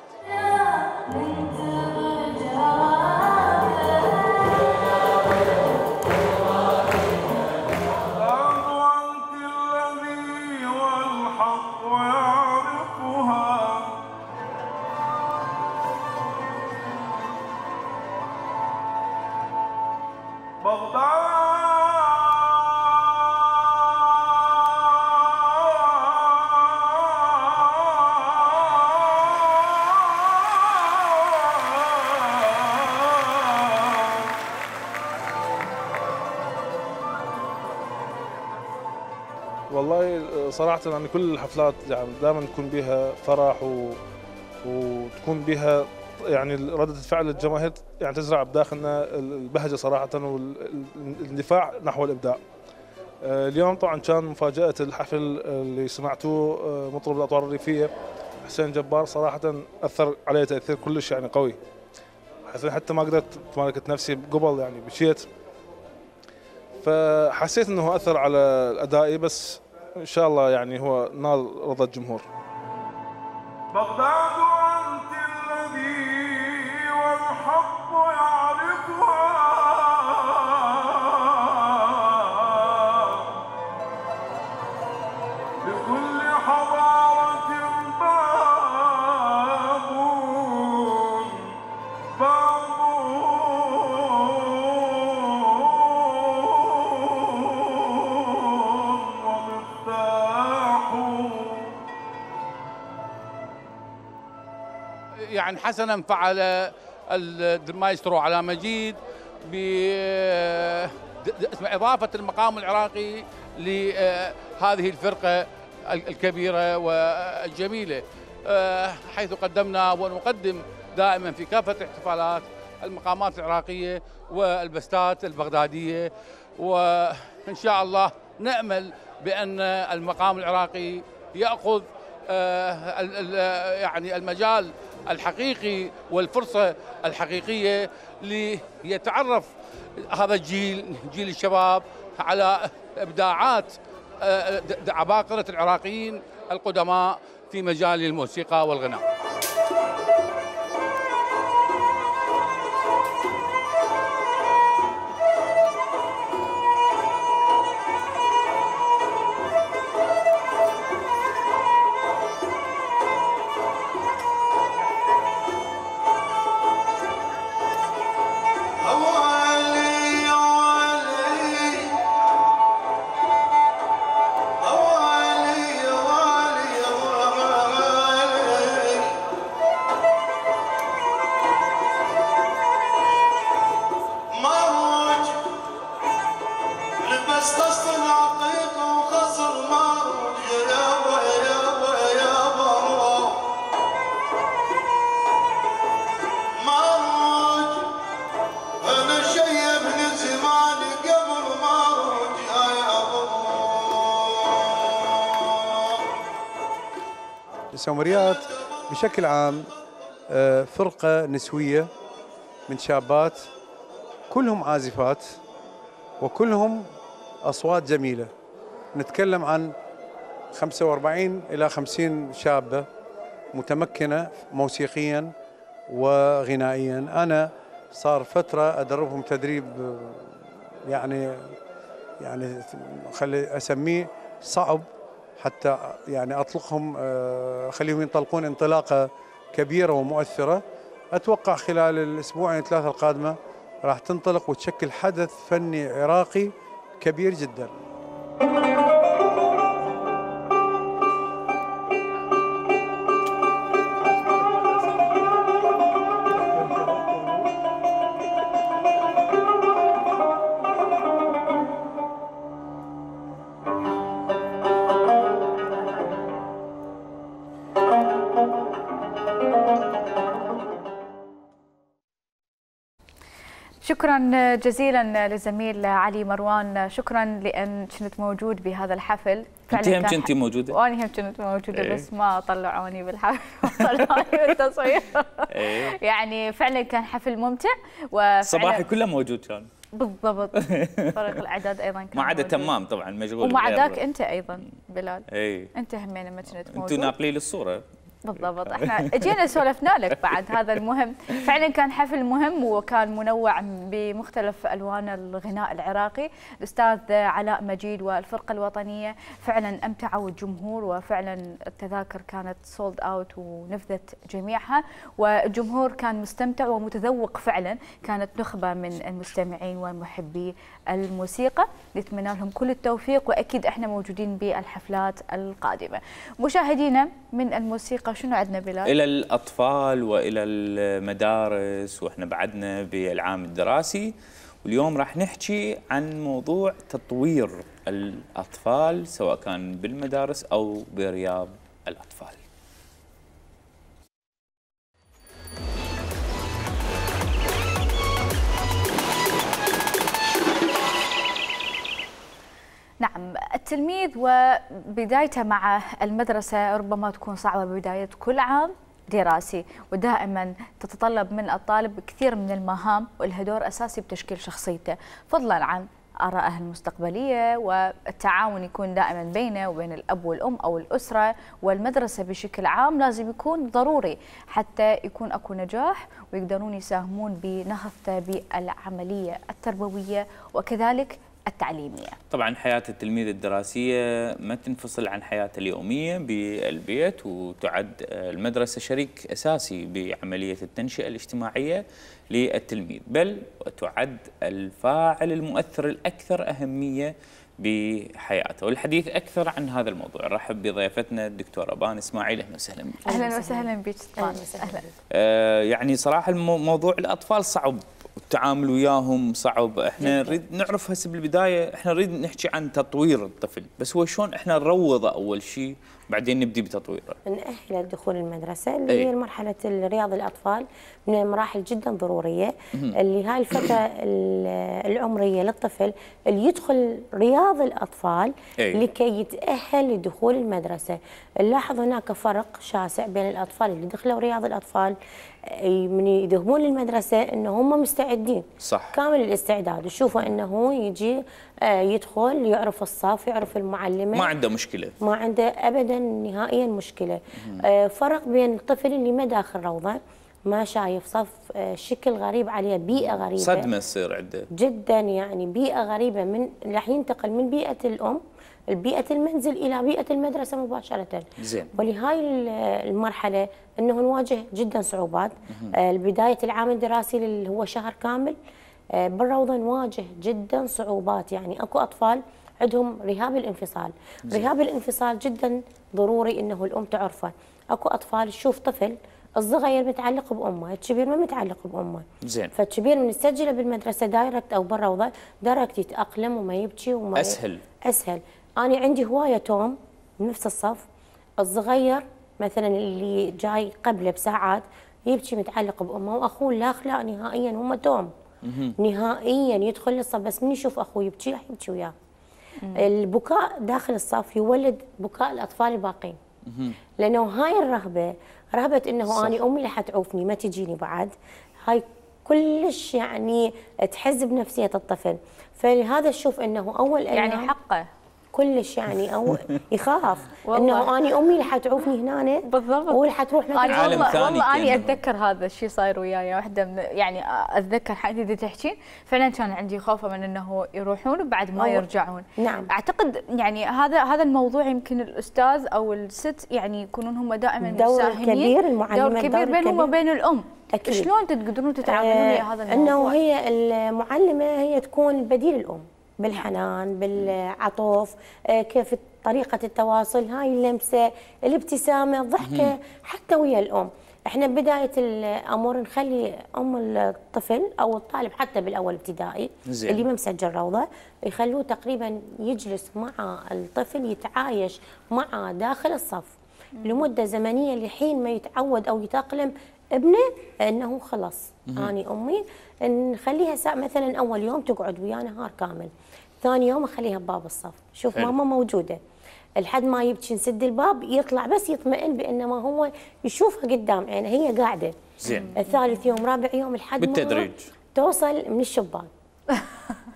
والله صراحة يعني كل الحفلات يعني دائما تكون بها فرح و... وتكون بها يعني ردة الفعل الجماهير يعني تزرع بداخلنا البهجة صراحة والاندفاع نحو الإبداع. اليوم طبعا كان مفاجأة الحفل اللي سمعتوه مطرب الأطوار الريفية حسين جبار، صراحة أثر علي تأثير كلش يعني قوي، حتى ما قدرت تمالكت نفسي قبل يعني بشيت، فحسيت انه اثر على ادائي، بس ان شاء الله يعني هو نال رضا الجمهور. بغداد انت الذي والحق يعرفها، يعني حسنا فعل المايسترو علاء مجيد بإضافة المقام العراقي لهذه الفرقة الكبيرة والجميلة، حيث قدمنا ونقدم دائما في كافة الاحتفالات المقامات العراقية والبستات البغدادية، وإن شاء الله نأمل بأن المقام العراقي يأخذ يعني المجال الحقيقي والفرصة الحقيقية ليتعرف هذا الجيل، جيل الشباب، على إبداعات عباقرة العراقيين القدماء في مجال الموسيقى والغناء. السومريات بشكل عام فرقة نسوية من شابات كلهم عازفات وكلهم أصوات جميلة. نتكلم عن خمسة وأربعين إلى خمسين شابة متمكنة موسيقيا وغنائيا. أنا صار فترة أدربهم تدريب يعني يعني خلي أسميه صعب حتى يعني أطلقهم خليهم ينطلقون انطلاقة كبيرة ومؤثرة. أتوقع خلال الأسبوعين ثلاثة القادمة راح تنطلق وتشكل حدث فني عراقي كبير جدا. شكرا جزيلا للزميل علي مروان، شكرا لان كنت موجود بهذا الحفل. انت هم كنتي موجوده؟ وانا هم كنت موجوده ايه؟ بس ما طلعوني بالحفل، طلعوني بالتصوير. ايه؟ يعني فعلا كان حفل ممتع. صباحي كله موجود كان. بالضبط. فريق الاعداد ايضا كان ما عدا تمام طبعا مشغول، وما عداك انت ايضا بلال. اي انت همين لما كنت موجود. انتم ناقلين الصوره. بالضبط، احنا اجينا سولفنا لك بعد هذا المهم. فعلا كان حفل مهم وكان منوع بمختلف الوان الغناء العراقي. الاستاذ علاء مجيد والفرقه الوطنيه فعلا امتعوا الجمهور، وفعلا التذاكر كانت سولد اوت ونفذت جميعها، والجمهور كان مستمتع ومتذوق فعلا. كانت نخبه من المستمعين ومحبي الموسيقى، نتمنى لهم كل التوفيق، واكيد احنا موجودين بالحفلات القادمه. مشاهدينا من الموسيقى شنو عندنا بلال؟ إلى الأطفال وإلى المدارس، وإحنا بعدنا بالعام الدراسي، واليوم راح نحكي عن موضوع تطوير الأطفال سواء كان بالمدارس أو برياض الأطفال. نعم، التلميذ وبدايته مع المدرسة ربما تكون صعبة بداية كل عام دراسي، ودائما تتطلب من الطالب كثير من المهام ولها دور أساسي بتشكيل شخصيته، فضلا عن آرائه المستقبلية، والتعاون يكون دائما بينه وبين الأب والأم أو الأسرة والمدرسة بشكل عام لازم يكون ضروري حتى يكون أكو نجاح ويقدرون يساهمون بنهضته بالعملية التربوية وكذلك التعليمية. طبعا حياة التلميذ الدراسية ما تنفصل عن حياته اليومية بالبيت، وتعد المدرسة شريك أساسي بعملية التنشئة الاجتماعية للتلميذ، بل وتعد الفاعل المؤثر الأكثر أهمية بحياته. والحديث اكثر عن هذا الموضوع نرحب بضيفتنا الدكتوره بان اسماعيل. اهلا وسهلا بك. اهلا وسهلا بك بان. اهلا. آه يعني صراحه موضوع الاطفال صعب والتعامل وياهم صعب. احنا نريد نعرف هسه بالبدايه، احنا نريد نحكي عن تطوير الطفل، بس هو شلون احنا نروضه اول شيء بعدين نبدي بتطويره؟ نأهله لدخول المدرسه اللي أي. هي مرحله رياض الاطفال من المراحل جدا ضروريه، اللي هاي الفتره العمريه للطفل اللي يدخل رياض الاطفال أي. لكي يتاهل لدخول المدرسه. نلاحظ هناك فرق شاسع بين الاطفال اللي دخلوا رياض الاطفال من يذهبون للمدرسه انه هم مستعدين صح كامل الاستعداد، وشوفوا انه يجي يدخل يعرف الصف يعرف المعلمه، ما عنده مشكله، ما عنده ابدا نهائيا مشكله. مم. فرق بين الطفل اللي ما داخل روضه، ما شايف صف، شكل غريب عليه، بيئه غريبه، صدمه تصير عنده جدا، يعني بيئه غريبه، من راح ينتقل من بيئه الام بيئة المنزل إلى بيئة المدرسة مباشرة. زين. ولهاي المرحلة أنه نواجه جدا صعوبات. آه بداية العام الدراسي اللي هو شهر كامل آه بالروضة نواجه جدا صعوبات، يعني أكو أطفال عندهم رهاب الانفصال. زين. رهاب الانفصال جدا ضروري أنه الأم تعرفه. أكو أطفال تشوف طفل الصغير متعلق بأمه، الكبير ما متعلق بأمه. زين. فالكبير من نسجله بالمدرسة دايركت أو بالروضة دايركت يتأقلم وما يبكي وما أسهل. أسهل. أنا عندي هواية توم بنفس الصف، الصغير مثلا اللي جاي قبله بساعات يبكي متعلق بأمه، وأخوه لا أخلاق نهائيا، هم توم نهائيا يدخل الصف بس من يشوف أخوه يبكي راح يبكي وياه. البكاء داخل الصف يولد بكاء الأطفال الباقين، لأنه هاي الرهبة رهبة إنه أنا أمي رح تعوفني ما تجيني بعد، هاي كلش يعني تحز بنفسية الطفل. فلهذا أشوف إنه أول يعني حقه كلش يعني او يخاف انه اني امي رح تعوفني هنا بالضبط ورح تروح مثلا. والله والله اني اتذكر هذا الشيء صاير وياي، واحده من يعني اتذكر حقيقه تحكين فعلا كان عندي خوفه من انه يروحون وبعد ما يرجعون. نعم. اعتقد يعني هذا هذا الموضوع يمكن الاستاذ او الست يعني يكونون هم دائما دور كبير، المعلمه دور كبير بينهم وبين الام. أكيد. شلون تقدرون تتعاملون ويا هذا الموضوع؟ انه هي المعلمه هي تكون بديل الام بالحنان بالعطف، كيف طريقة التواصل، هاي اللمسة، الابتسامة، الضحكة حتى ويا الأم. احنا بداية الأمر نخلي أم الطفل أو الطالب حتى بالأول ابتدائي زين. اللي ما مسجل روضة يخلوه تقريبا يجلس مع الطفل يتعايش معه داخل الصف لمدة زمنية لحين ما يتعود أو يتأقلم ابنه انه خلص اني امي. نخليها ساعة مثلا اول يوم تقعد ويانا نهار كامل، ثاني يوم اخليها بباب الصف، شوف حلو. ماما موجوده لحد ما يبكي نسد الباب يطلع بس يطمئن بان ما هو يشوفها قدام عينه هي قاعده. زين. الثالث يوم رابع يوم لحد بالتدريج توصل من الشباك.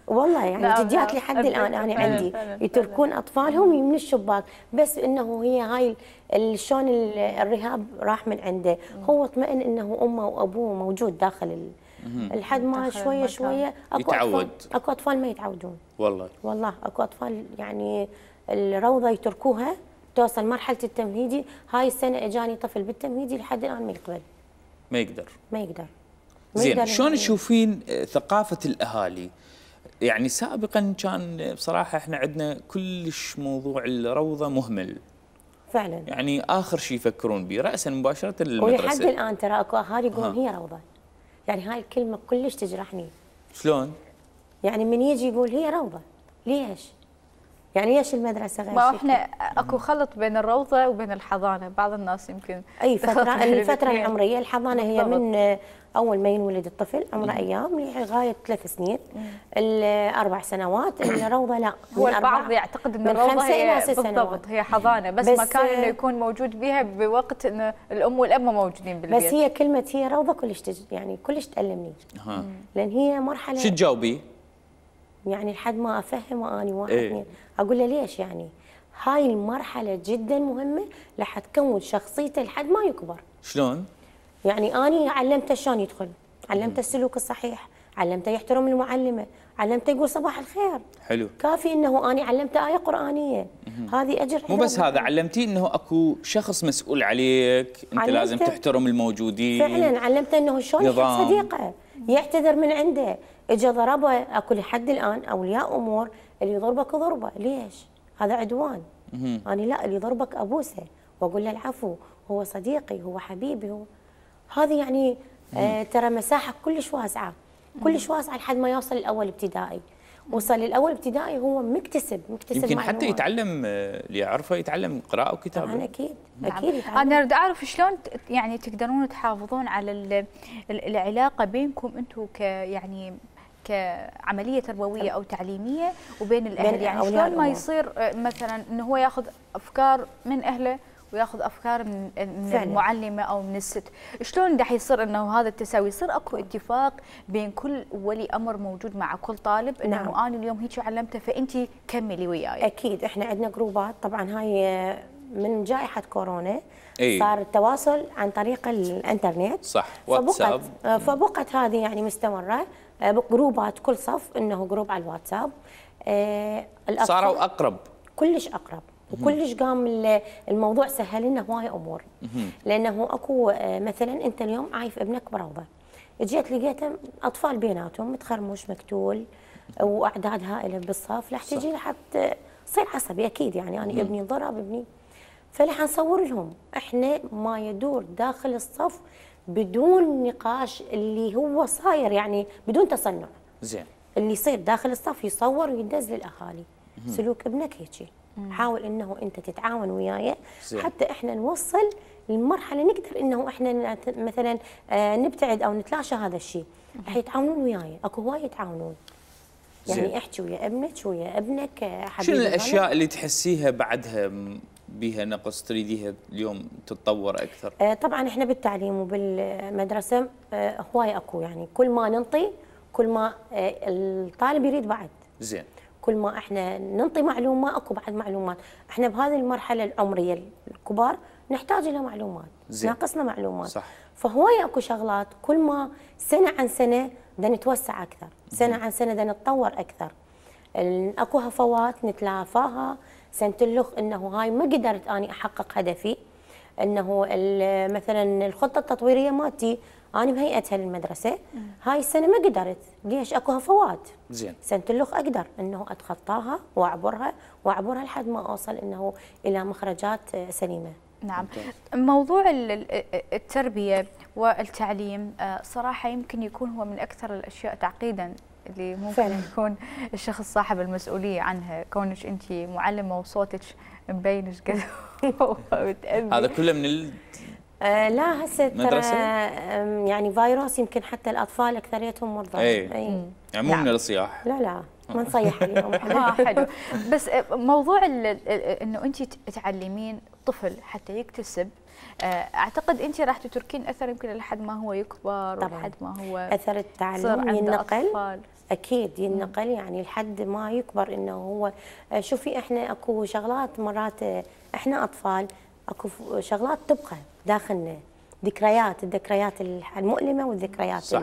والله يعني جديات لحد الان انا عندي يتركون اطفالهم من الشباك، بس انه هي هاي شلون الرهاب راح من عنده، هو اطمئن انه امه وابوه موجود داخل لحد ما شويه شويه اكو يتعود. اطفال اكو اطفال ما يتعودون والله والله اكو اطفال يعني الروضه يتركوها توصل مرحله التمهيدي. هاي السنه اجاني طفل بالتمهيدي لحد الان ما يقبل ما يقدر ما يقدر زين. شلون تشوفين ثقافه الاهالي؟ يعني سابقا كان بصراحه احنا عندنا كلش موضوع الروضه مهمل فعلا، يعني اخر شيء يفكرون به راسا مباشره للمدرسه. ولحد الان ترى اكو اهالي يقولون هي روضه، يعني هاي الكلمه كلش تجرحني. شلون؟ يعني من يجي يقول هي روضه، ليش؟ يعني ليش المدرسه غير ما احنا اكو خلط بين الروضه وبين الحضانه، بعض الناس يمكن اي فتره الفتره العمريه. الحضانه هي من اول ما ينولد الطفل عمره ايام لغايه ثلاث سنين، الاربع سنوات. الروضه لا، هو البعض يعتقد ان الروضه هي بالضبط هي حضانه، بس, بس مكان انه يكون موجود بها بوقت ان الام والاب ما موجودين بالبيت. بس هي كلمه هي روضه كلش تج... يعني كلش تألمني. ها. لان هي مرحله شو تجاوبي؟ يعني لحد ما افهمه اني واحد اثنين إيه؟ اقول له ليش؟ يعني هاي المرحله جدا مهمه لح تكون شخصيته لحد ما يكبر. شلون؟ يعني اني علمته شلون يدخل، علمته السلوك الصحيح، علمته يحترم المعلمه، علمته يقول صباح الخير. حلو. كافي انه اني علمته ايه قرانيه. هذه اجر. مو بس هذا، علمتيه انه اكو شخص مسؤول عليك، انت لازم تحترم الموجودين. فعلا علمته انه شلون يحب صديقه، يعتذر من عنده، اجى ضربه، اكو لحد الان اولياء امور اللي يضربك ضربه، ليش؟ هذا عدوان. انا لا، اللي يضربك ابوسه واقول له العفو، هو صديقي، هو حبيبي، هو هذه يعني آه ترى مساحه كلش واسعه، كلش واسعه لحد ما يوصل الاول ابتدائي. وصل للاول ابتدائي هو مكتسب مكتسب يمكن معلومات. حتى يتعلم اللي يعرفه يتعلم قراءه وكتابه. طبعا اكيد نعم. اكيد يتعلم. انا اريد اعرف شلون يعني تقدرون تحافظون على ال ال العلاقه بينكم انتم ك يعني كعمليه تربويه او تعليميه وبين الاهل، يعني شلون ما يصير مثلا انه هو ياخذ افكار من اهله وياخذ افكار من, من المعلمه او من الست، شلون راح يصير انه هذا التساوي؟ يصير اكو اتفاق بين كل ولي امر موجود مع كل طالب انه نعم. انا اليوم هيك علمته فانت كملي وياي. اكيد احنا عندنا جروبات، طبعا هاي من جائحه كورونا أي. صار التواصل عن طريق الانترنت، صح، واتساب، فبقت, فبقت هذه يعني مستمره جروبات، كل صف انه جروب على الواتساب. صاروا اقرب، كلش اقرب، وكلش قام الموضوع سهل لنا هواي امور. لانه اكو مثلا انت اليوم عايف ابنك بروضه، جيت لقيته اطفال بيناتهم متخرمش مقتول واعداد هائله بالصف، راح تجي راح تصير عصبي اكيد، يعني انا ابني ضرب ابني، فراح نصور لهم احنا ما يدور داخل الصف بدون نقاش اللي هو صاير، يعني بدون تصنع. زين. اللي يصير داخل الصف يصور ويدز للاهالي. سلوك ابنك هيجي، حاول انه انت تتعاون وياي حتى احنا نوصل للمرحله نقدر انه احنا مثلا نبتعد او نتلاشى هذا الشيء. راح يتعاونون وياي، اكو هواي يتعاونون. يعني احكي ويا ابنك ويا ابنك حبيبي. شنو الاشياء اللي تحسيها بعدها بيها نقص تريديها اليوم تتطور اكثر؟ آه طبعا احنا بالتعليم وبالمدرسه آه هواي اكو، يعني كل ما ننطي كل ما آه الطالب يريد بعد. زين. كل ما احنا ننطي معلومه اكو بعد معلومات، احنا بهذه المرحله العمريه الكبار نحتاج الى معلومات، زين. ناقصنا معلومات. صح. فهواي اكو شغلات كل ما سنه عن سنه بدنا نتوسع اكثر، سنه عن سنه بدنا نتطور اكثر. اكو هفوات نتلافاها، سنتلخ انه هاي ما قدرت اني احقق هدفي، انه مثلا الخطه التطويريه مالتي انا مهيئتها للمدرسه، هاي السنه ما قدرت، ليش؟ اكو هفوات. زين. سنتلخ اقدر انه اتخطاها واعبرها واعبرها لحد ما اوصل انه الى مخرجات سليمه. نعم. موضوع التربيه والتعليم صراحه يمكن يكون هو من اكثر الاشياء تعقيدا اللي ممكن فعلا. يكون الشخص صاحب المسؤوليه عنها، كونك انت معلمه وصوتك مبين ايش قد هذا كله من ال... آه لا هسه ترى يعني فيروس، يمكن حتى الاطفال اكثريتهم مرضى. اي, أي. يعني مو من الصياح. لا لا ما نصيح عليهم. اه حلو. بس موضوع انه انت تعلمين طفل حتى يكتسب، اعتقد انت راح تتركين اثر يمكن لحد ما هو يكبر ولحد ما هو اثر التعلم ينقل. اكيد ينقل، يعني لحد ما يكبر انه هو. شوفي احنا اكو شغلات مرات احنا اطفال اكو شغلات تبقى داخلنا، ذكريات، الذكريات المؤلمه والذكريات. صح.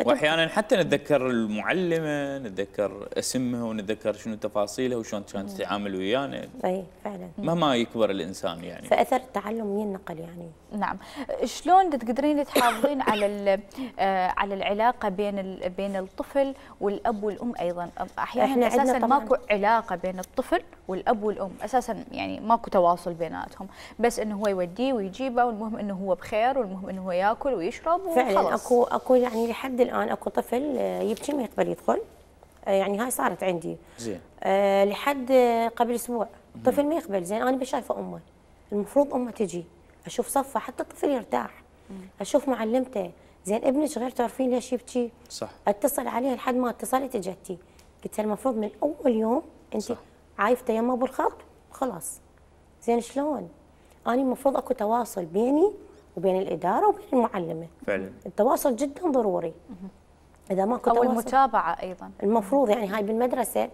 واحيانا حتى نتذكر المعلمه، نتذكر اسمها ونتذكر شنو تفاصيلها وشلون كانت تتعامل ويانا. اي فعلا. مهما يكبر الانسان يعني. فاثر التعلم ينقل يعني. نعم. شلون تقدرين تحافظين على على العلاقه بين بين الطفل والاب والام ايضا؟ احيانا اساسا ماكو علاقه بين الطفل والاب والام، اساسا يعني ماكو تواصل بيناتهم، بس انه هو يوديه ويجيبه والمهم انه هو بخير والمهم انه هو ياكل ويشرب وخلاص. فعلا اكو اكو يعني لحد الان اكو طفل يبكي ما يقبل يدخل، يعني هاي صارت عندي. زين. أه لحد قبل اسبوع طفل ما يقبل. زين انا بشايفه امه، المفروض امه تجي اشوف صفه حتى الطفل يرتاح. مم. اشوف معلمته، زين ابنك غير تعرفين ليش يبكي؟ صح. اتصل عليها لحد ما اتصلت اجتي، قلت لها المفروض من اول يوم انت عايفته يمه بالخط خلاص. زين شلون؟ انا المفروض اكو تواصل بيني وبين الاداره وبين المعلمه. فعلا. التواصل جدا ضروري. مم. اذا ماكو او تواصل، المتابعه ايضا المفروض، يعني هاي بالمدرسه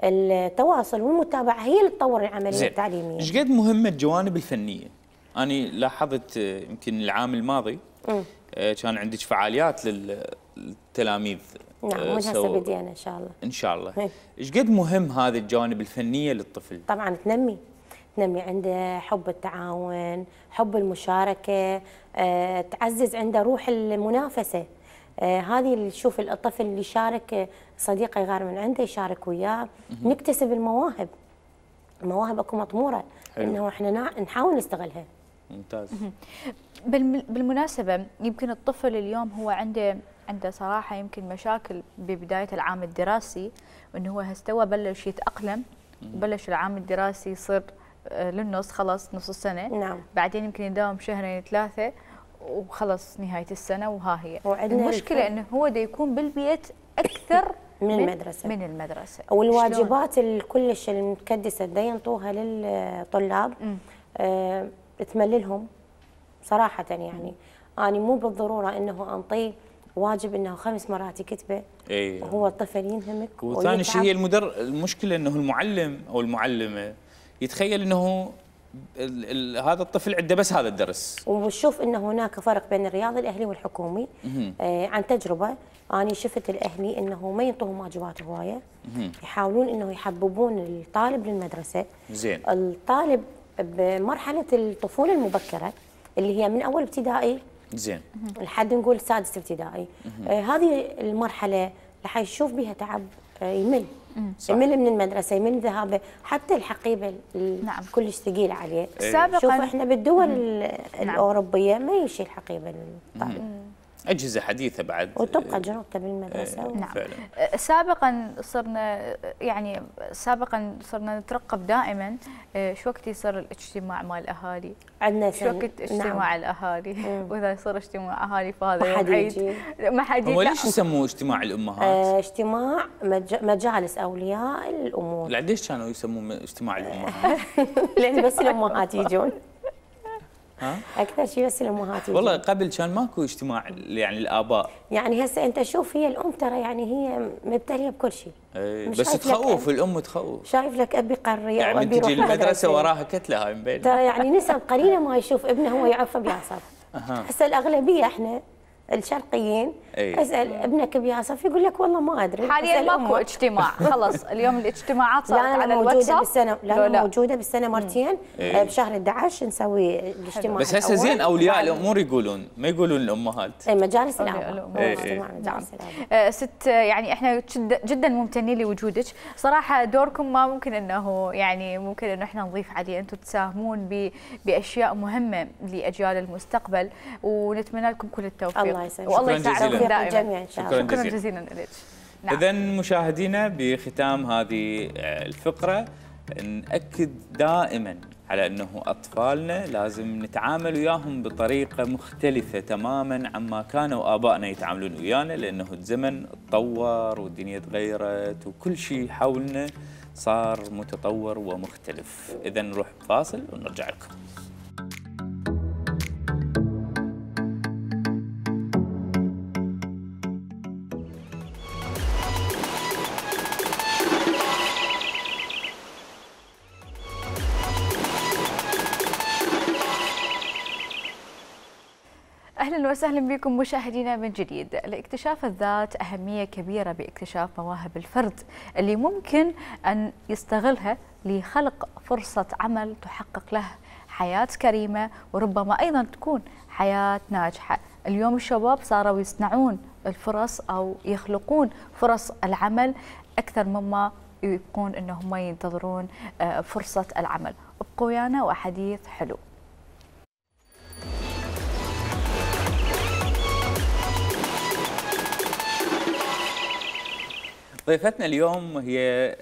التواصل والمتابعه هي اللي تطور العمليه التعليميه. ايش قد مهمه الجوانب الفنيه؟ انا لاحظت يمكن العام الماضي م. كان عندك فعاليات للتلاميذ. نعم من هسه بدينا ان شاء الله. ان شاء الله. ايش قد مهم هذه الجوانب الفنيه للطفل؟ طبعا تنمي تنمي عنده حب التعاون، حب المشاركه، أه، تعزز عنده روح المنافسه. آه هذه اللي تشوف الطفل اللي يشارك صديقه يغار من عنده يشارك وياه، نكتسب المواهب. المواهب اكو مطموره انه احنا نحاول نستغلها. ممتاز. بالمناسبه يمكن الطفل اليوم هو عنده عنده صراحه يمكن مشاكل ببدايه العام الدراسي، وانه هو هستوى بلش يتاقلم وبلش العام الدراسي يصير للنص، خلص نص السنه. نعم. بعدين يمكن يداوم شهرين ثلاثه وخلص نهايه السنه، وها هي المشكله انه هو دا يكون بالبيت اكثر من, من المدرسه من المدرسه والواجبات الكلش المتكدسه دا ينطوها للطلاب آه تمللهم صراحه. يعني انا مو بالضروره انه انطيه واجب انه خمس مرات يكتبه. اي وهو الطفل ينهمك. وثاني شيء هي المدر المشكله انه المعلم او المعلمه يتخيل انه ال ال هذا الطفل عنده بس هذا الدرس. وشوف انه هناك فرق بين الرياضي الاهلي والحكومي. آه عن تجربه انا شفت الاهلي انه ما ينطوهم واجبات هوايه، يحاولون انه يحببون الطالب للمدرسه. زين. الطالب بمرحله الطفوله المبكره اللي هي من اول ابتدائي زين لحد نقول سادس ابتدائي، آه هذه المرحله راح يشوف بها تعب، آه يمل. صح. يمل من المدرسه، يمل من ذهابه، حتى الحقيبه نعم. كلش ثقيل عليه. سابقا شوف احنا بالدول نعم. الاوروبيه ما يشيل الحقيبه للطالب. اجهزه حديثه بعد وتبقى جربتها بالمدرسه. ايه نعم. فعلا. سابقا صرنا يعني سابقا صرنا نترقب دائما شو وقت يصير الاجتماع مال الاهالي. عندنا شو وقت اجتماع نعم. الاهالي، واذا يصير اجتماع اهالي فهذا يوم عيد. ما حد يجي. هو ليش يسموه اجتماع الامهات؟ اه اجتماع مج... مجالس اولياء الامور. ليش كانوا يسموه اجتماع الامهات؟ لان بس الامهات يجون. ها؟ اكثر شيء بس الامهات. والله قبل كان ماكو اجتماع يعني الاباء. يعني هسه انت شوف هي الام ترى يعني هي مبتليه بكل شيء. اي بس تخوف الام تخوف. شايف لك ابي قريه يعني وابي تجي المدرسه وراها كتله هاي مبين. ترى يعني نسب قليله ما يشوف ابنه هو يعرف بيعصب. هسه الاغلبيه احنا الشرقيين أي. اسال ابنك بيعصف يقول لك والله ما ادري. حاليا ماكو اجتماع خلص. اليوم الاجتماعات صارت على الواتساب. بالسنه لا, لا موجوده بالسنه مرتين. أي. بشهر أحد عشر نسوي الاجتماع. بس هسه زين اولياء الامور يقولون ما يقولون الامهات. اي مجالس الاباء. اجتماع مجالس الاباء. ست يعني احنا جدا ممتنين لوجودك صراحه. دوركم ما ممكن انه يعني ممكن انه احنا نضيف عليه. انتم تساهمون باشياء مهمه لاجيال المستقبل، ونتمنى لكم كل التوفيق. الله يسلمك. والله يسعدكم دائما. شكرا جزيلا. شكرا جزيلا لك. نعم. إذا مشاهدينا بختام هذه الفقرة نأكد دائما على أنه أطفالنا لازم نتعامل وياهم بطريقة مختلفة تماما عما كانوا آبائنا يتعاملون ويانا، لأنه الزمن تطور والدنيا تغيرت وكل شيء حولنا صار متطور ومختلف. إذا نروح فاصل ونرجع لكم. أهلا وسهلا بكم مشاهدينا من جديد. لاكتشاف الذات أهمية كبيرة باكتشاف مواهب الفرد اللي ممكن أن يستغلها لخلق فرصة عمل تحقق له حياة كريمة، وربما أيضا تكون حياة ناجحة. اليوم الشباب صاروا يصنعون الفرص أو يخلقون فرص العمل أكثر مما يبقون أنهم ينتظرون فرصة العمل. ابقوا ويانا وحديث حلو. ضيفتنا اليوم هي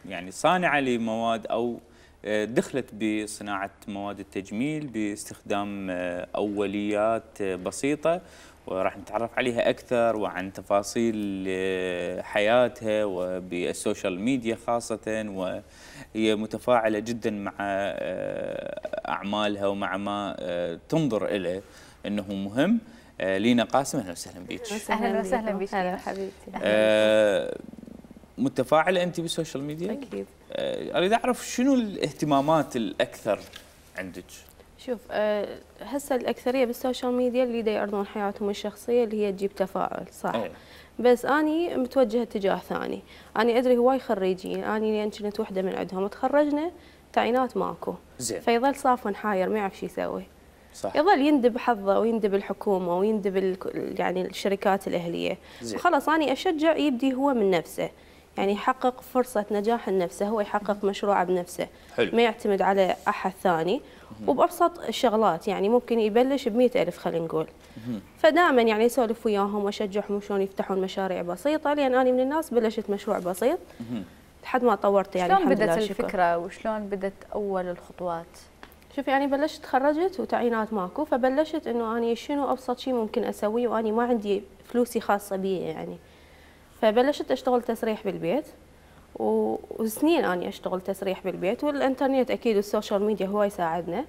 يعني صانعة لمواد أو دخلت بصناعة مواد التجميل باستخدام أوليات بسيطة، وراح نتعرف عليها أكثر وعن تفاصيل حياتها وبالسوشيال ميديا خاصة، وهي متفاعلة جدا مع أعمالها ومع ما تنظر إليه أنه مهم. لينا قاسم، اهلا وسهلا بك. اهلا وسهلا بك. هلا حبيبتي. أه متفاعله انت بالسوشيال ميديا؟ اكيد. أه اريد اعرف شنو الاهتمامات الاكثر عندك؟ شوف أه هسه الاكثريه بالسوشيال ميديا اللي دا يعرضون حياتهم الشخصيه اللي هي تجيب تفاعل صح. أيه. بس اني متوجهه اتجاه ثاني. اني ادري هواي خريجين، اني لان كنت وحده من عندهم تخرجنا تعيينات ماكو. زين. فيظل صافن حاير ما يعرف شو يسوي. صح. يظل يندب حظه ويندب الحكومه ويندب ال- يعني الشركات الاهليه. خلاص انا اشجع يبدي هو من نفسه، يعني يحقق فرصه نجاح لنفسه، هو يحقق مشروعه بنفسه. حلو. ما يعتمد على احد ثاني. وبابسط الشغلات، يعني ممكن يبلش ب مئة ألف خلينا نقول. فدائما يعني اسولف وياهم واشجعهم شلون يفتحون مشاريع بسيطه، لان انا من الناس بلشت مشروع بسيط لحد ما طورت يعني شلون الحمد بدت لله شكر. الفكره وشلون بدت اول الخطوات؟ شوف يعني بلشت تخرجت وتعيينات ماكو، فبلشت انه اني شنو ابسط شيء ممكن اسويه واني ما عندي فلوسي خاصه بي يعني. فبلشت اشتغل تسريح بالبيت و- وسنين اني اشتغل تسريح بالبيت، والانترنت اكيد والسوشيال ميديا هو يساعدنا.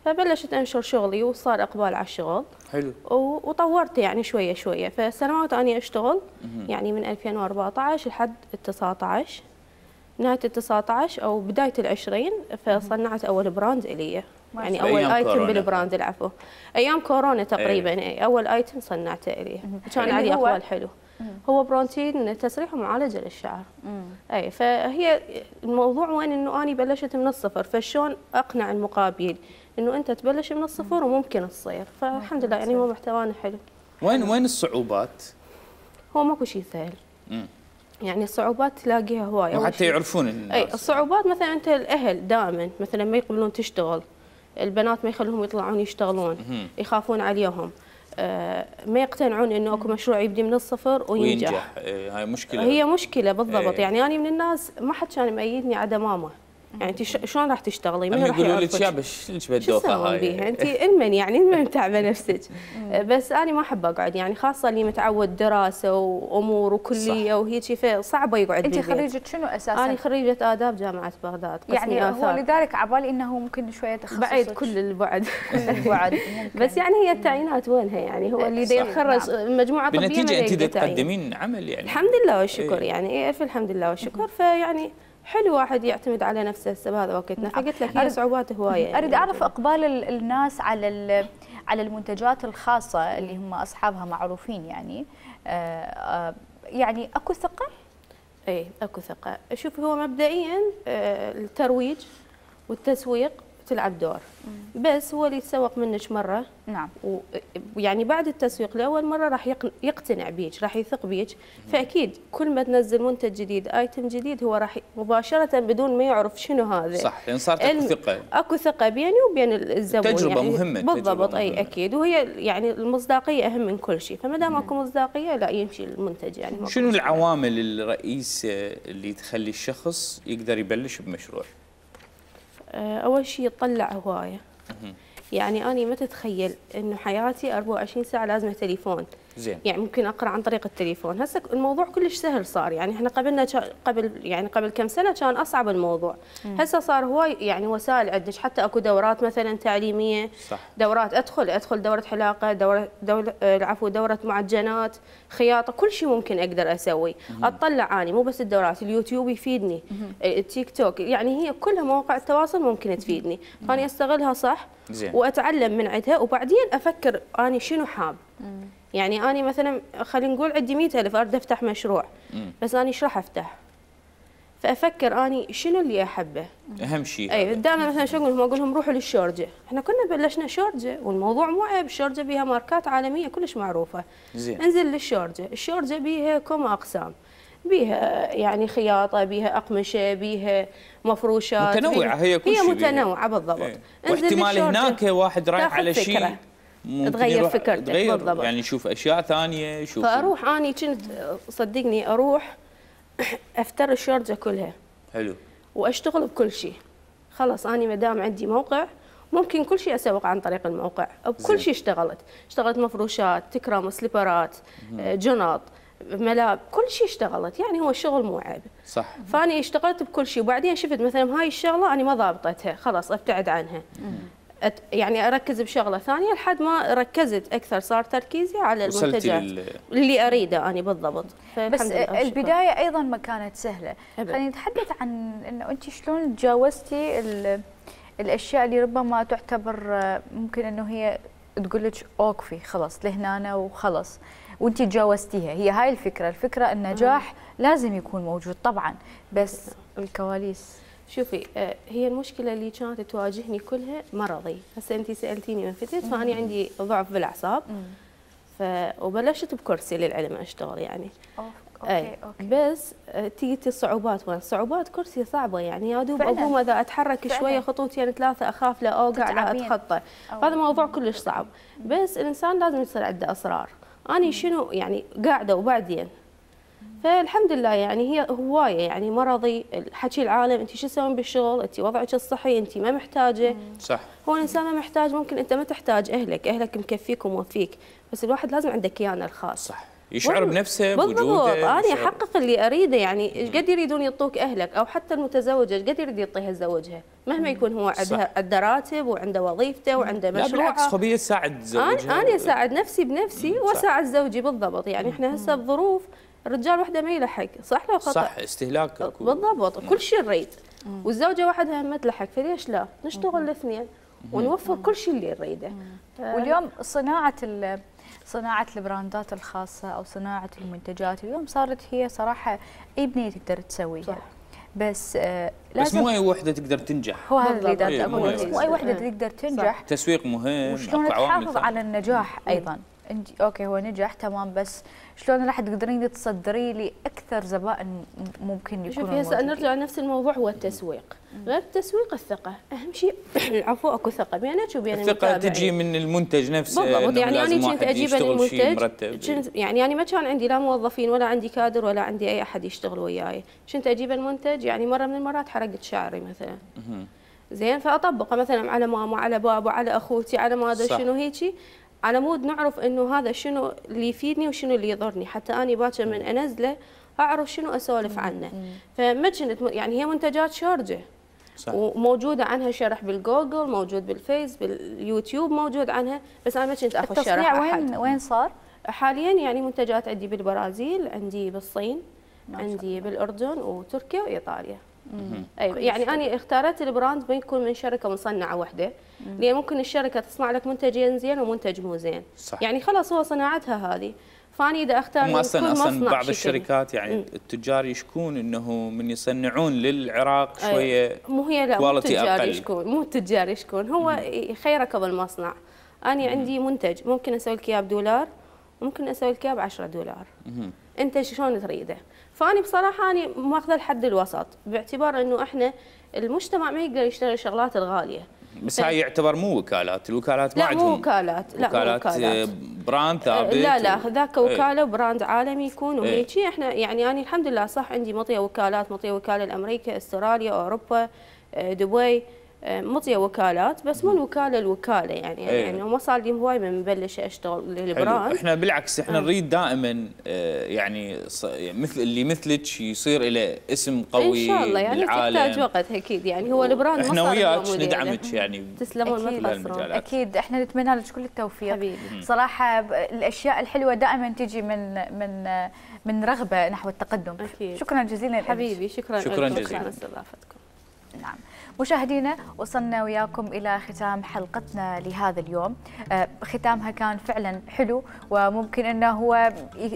فبلشت انشر شغلي وصار اقبال على الشغل. حلو. و- وطورت يعني شويه شويه، فسنوات اني اشتغل يعني من ألفين وأربعطعش لحد تسعة عشر. نهايه ال تسعة عشر او بدايه العشرين فصنعت اول براند الي، يعني اول أيام ايتم كورونا. بالبراند العفو ايام كورونا تقريبا. ايه. اول ايتم صنعته الي كان اللي عليه هو؟ اقبال حلو. هو برونتين تسريح ومعالجه للشعر. اي فهي الموضوع وين انه اني بلشت من الصفر، فشلون اقنع المقابل انه انت تبلش من الصفر وممكن تصير. فالحمد لله يعني هو محتوانا حلو. وين وين الصعوبات؟ هو ماكو شيء سهل. مم. يعني الصعوبات تلاقيها هواي. أول وحتى شيء- يعرفون الناس. اي الصعوبات مثلا انت الاهل دائما مثلا ما يقبلون تشتغل، البنات ما يخلوهم يطلعون يشتغلون، مهم. يخافون عليهم، آه ما يقتنعون انه اكو مشروع يبدي من الصفر وينجح. وينجح. إيه، هاي مشكله. هي مشكله بالضبط. إيه. يعني انا من الناس ما حد كان مأيدني عدا ماما. يعني انت ش- شلون راح تشتغلي؟ هم من راح يقولوا لك يعرفك؟ شابه شلون شو بالدوخه تسوون هاي؟ بيها انت؟ المن يعني المن تعبه نفسك. بس انا ما احب اقعد، يعني خاصه اللي متعود دراسه وامور وكليه وهيك فصعبه يقعد انت بالبيت. خريجه شنو اساسا؟ انا خريجه اداب جامعه بغداد قسم يعني هو الآثار. لذلك عبالي انه ممكن شويه تخصص بعيد كل البعد. كل البعد ممكن. بس يعني هي التعيينات وينها؟ يعني هو اللي دا صح. يتخرج مجموعه طبيه ما بالنتيجه انت يلقى دا تعيين. تقدمين عمل يعني. الحمد لله والشكر. إيه. يعني إيه الف الحمد لله والشكر. فيعني حلو واحد يعتمد على نفسه هسه بهذا وقتنا. فقلت لك هي أريد- صعوبات هوايه يعني. اريد اعرف اقبال ال- الناس على ال- على المنتجات الخاصه اللي هم اصحابها معروفين يعني. آه، آه، يعني اكو ثقه؟ اي اكو ثقه. شوف هو مبدئيا آه، الترويج والتسويق تلعب دور، بس هو اللي يتسوق منك مره نعم. ويعني بعد التسويق لاول مره راح يقن- يقتنع بيك، راح يثق بيك. فاكيد كل ما تنزل منتج جديد ايتم جديد هو راح ي- مباشره بدون ما يعرف شنو هذا. صح، لان صارت اكو الم- ثقه. اكو ثقه بيني وبين الزبون. تجربة يعني مهمة، بالضبط. تجربة اي مهمة. اكيد. وهي يعني المصداقيه اهم من كل شيء، فما دام اكو مصداقيه لا يمشي المنتج يعني. ماكو شنو مشكلة. العوامل الرئيسيه اللي تخلي الشخص يقدر يبلش بمشروع؟ آه، اول شيء يطلع هوايه. يعني أنا ما تتخيل إنه حياتي أربعة وعشرين ساعة لازمة تليفون. زين. يعني ممكن أقرأ عن طريق التليفون. هسه الموضوع كلش سهل صار. يعني إحنا قبلنا قبل يعني قبل كم سنة كان أصعب الموضوع. هسه صار هواي يعني وسائل عندك، حتى أكو دورات مثلا تعليمية. صح. دورات أدخل أدخل دورة حلاقة، دورة دورة العفو دورة معجنات، خياطة، كل شيء ممكن أقدر أسوي. أطلع أنا مو بس الدورات، اليوتيوب يفيدني، التيك توك، يعني هي كلها مواقع التواصل ممكن تفيدني. فأنا أستغلها صح. زين. واتعلم من عندها وبعدين افكر اني شنو حاب. يعني اني مثلا خلينا نقول عندي مئة ألف اريد افتح مشروع، مم. بس اني ايش راح افتح؟ فافكر اني شنو اللي احبه. اهم شيء. اي دائما مثلا شو اقول لهم؟ اقول لهم روحوا للشورجه. احنا كنا بلشنا شورجه والموضوع مو عيب، الشورجه بيها ماركات عالميه كلش معروفه. زين. انزل للشورجه، الشورجه بيها كم اقسام. بيها يعني خياطه، بيها اقمشه، بيها مفروشات، متنوعه. بيها هي كل هي شيء متنوعه بالضبط. ايه. انزل واحتمال للشورجة، هناك واحد رايح تاخذ على شيء فكرة. ممكن تغير يروح فكرتك تغير بالضبط. يعني يشوف اشياء ثانيه يشوف. فاروح اني كنت صدقني اروح افتر الشارجه كلها حلو. واشتغل بكل شيء. خلاص اني ما دام عندي موقع ممكن كل شيء اسوق عن طريق الموقع. بكل شيء اشتغلت، اشتغلت مفروشات، تكرم، سليبرات، جنط، ملاب، كل شيء اشتغلت. يعني هو الشغل مو عيب. صح. فاني اشتغلت بكل شيء وبعدين شفت مثلا هاي الشغله انا ما ضابطتها، خلاص ابتعد عنها. أت يعني اركز بشغله ثانيه لحد ما ركزت اكثر، صار تركيزي على المنتجات لل... اللي اريده انا بالضبط. بس البدايه ايضا ما كانت سهله. خلينا نتحدث عن انه انت شلون تجاوزتي الاشياء اللي ربما تعتبر ممكن انه هي تقول لك اوقفي خلاص لهنا وخلاص، وانت تجاوزتيها. هي هاي الفكره، الفكره النجاح لازم يكون موجود طبعا، بس الكواليس. شوفي آه، هي المشكله اللي كانت تواجهني كلها مرضي. هسه انت سالتيني من فتت، فانا عندي ضعف بالاعصاب. ف وبلشت بكرسي للعلم اشتغل يعني. اوكي أي. اوكي. بس آه، تيجي الصعوبات وين؟ صعوبات كرسي صعبه يعني، يا دوب اقوم اذا اتحرك فعلاً. شويه خطوتين ثلاثه اخاف لا اوقع لا اتخطى. هذا موضوع كلش صعب. بس الانسان لازم يصير عنده اصرار. اني شنو يعني قاعده وبعدين فالحمد لله يعني هي هوايه يعني مرضي حكي العالم انت شو تسوين بالشغل، انت وضعك الصحي انت ما محتاجه. صح. هو الانسان ما محتاج، ممكن انت ما تحتاج اهلك، اهلك مكفيك وموفيك، بس الواحد لازم عنده كيانه الخاص. صح. يشعر بنفسه بوجوده. بالضبط. انا يشعر. احقق اللي اريده يعني. ايش قد يريدون يعطوك اهلك او حتى المتزوجه ايش قد يريد يعطيها زوجها، مهما يكون هو عنده عنده راتب وعنده وظيفته وعنده مشروع. لا بالعكس خبيه تساعد زوجها. انا انا اساعد نفسي بنفسي واساعد زوجي بالضبط يعني. احنا هسه بظروف الرجال وحده ما يلحق، صح لو خطا؟ صح. استهلاك بالضبط. كل شيء نريد، والزوجه وحدها ما تلحق، فليش لا نشتغل الاثنين ونوفر كل شيء اللي نريده. واليوم صناعه صناعه البراندات الخاصه او صناعه المنتجات اليوم صارت هي صراحه اي بنيه تقدر تسويها. بس آه لازم بس مو اي وحده تقدر تنجح. هو هذا اللي دا اقول، بس مو اي وحده تقدر تنجح. تسويق مهم، وشلون تحافظ على النجاح ايضا. انت اوكي هو نجح تمام، بس شلون راح تقدرين تصدري لي اكثر زبائن ممكن يكونوا شوفي هسه نرجع لنفس الموضوع، هو التسويق. غير التسويق الثقه اهم شيء. العفو اكو ثقه بينك وبين المتابعين. الثقه تجي من المنتج نفسه. بالضبط. يعني انا كنت اجيب المنتج كنت يعني انا ما كان عندي لا موظفين ولا عندي كادر ولا عندي اي احد يشتغل وياي، كنت اجيب المنتج يعني مره من المرات حرقت شعري مثلا. زين فاطبقه مثلا على ماما على بابا على اخوتي على ما ادري شنو هيجي، على مود نعرف انه هذا شنو اللي يفيدني وشنو اللي يضرني، حتى اني باكر من انزله اعرف شنو اسولف عنه. فما كنت يعني هي منتجات شارجه. صح. وموجوده عنها شرح بالجوجل، موجود بالفيس باليوتيوب موجود عنها، بس انا ما كنت اخذ شرح. التصنيع وين وين صار؟ حاليا يعني منتجات عندي بالبرازيل، عندي بالصين، عندي بالاردن وتركيا وايطاليا. اي يعني انا اختارت البراند ما يكون من شركه مصنعه واحده، لان ممكن الشركه تصنع لك منتجين زين ومنتج مو زين. صح. يعني خلاص هو صناعتها هذه، فاني اذا اختار من اصلا اصلا بعض الشركات يعني مم. التجار يشكون انه من يصنعون للعراق شويه مو هي لا مو التجار يشكون، مو التجار يشكون، هو يخيرك بالمصنع. انا عندي منتج ممكن اسوي لك اياه بدولار وممكن اسوي لك اياه ب عشرة دولار. مم. انت شلون تريده؟ فاني بصراحه انا ماخذه الحد الوسط، باعتبار انه احنا المجتمع ما يقدر يشتري الشغلات الغاليه. بس هاي يعتبر مو وكالات، الوكالات ما عندهم. لا مو وكالات، لا وكالات مو وكالات. براند ثابت. لا لا ذاك وكاله وبراند عالمي يكون وهيجي. احنا يعني انا الحمد لله صح عندي مطيه وكالات، مطيه وكاله لامريكا، استراليا، اوروبا، دبي، مطيه وكالات، بس مو الوكاله الوكاله يعني. ايه. يعني ما صار لي هواي من مبلشه اشتغل للبراند. احنا بالعكس احنا نريد دائما يعني مثل اللي مثلك يصير له اسم قوي ان شاء الله يعني بالعالم. تحتاج وقت اكيد يعني. هو البراند احنا وياك ندعمك يعني. تسلمون ما تقصرون. اكيد احنا نتمنى لك كل التوفيق حبيبي. صراحه الاشياء الحلوه دائما تجي من من من رغبه نحو التقدم. أكيد. شكرا جزيلا حبيبي. شكرا شكرا جزيلا على استضافتكم. نعم مشاهدينا، وصلنا وياكم إلى ختام حلقتنا لهذا اليوم. ختامها كان فعلا حلو، وممكن أنه هو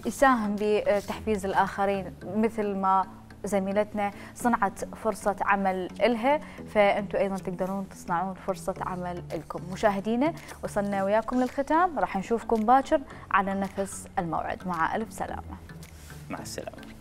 يساهم بتحفيز الآخرين مثل ما زميلتنا صنعت فرصة عمل إلها، فأنتم أيضا تقدرون تصنعون فرصة عمل لكم. مشاهدينا وصلنا وياكم للختام، راح نشوفكم باكر على نفس الموعد. مع ألف سلامة. مع السلامة.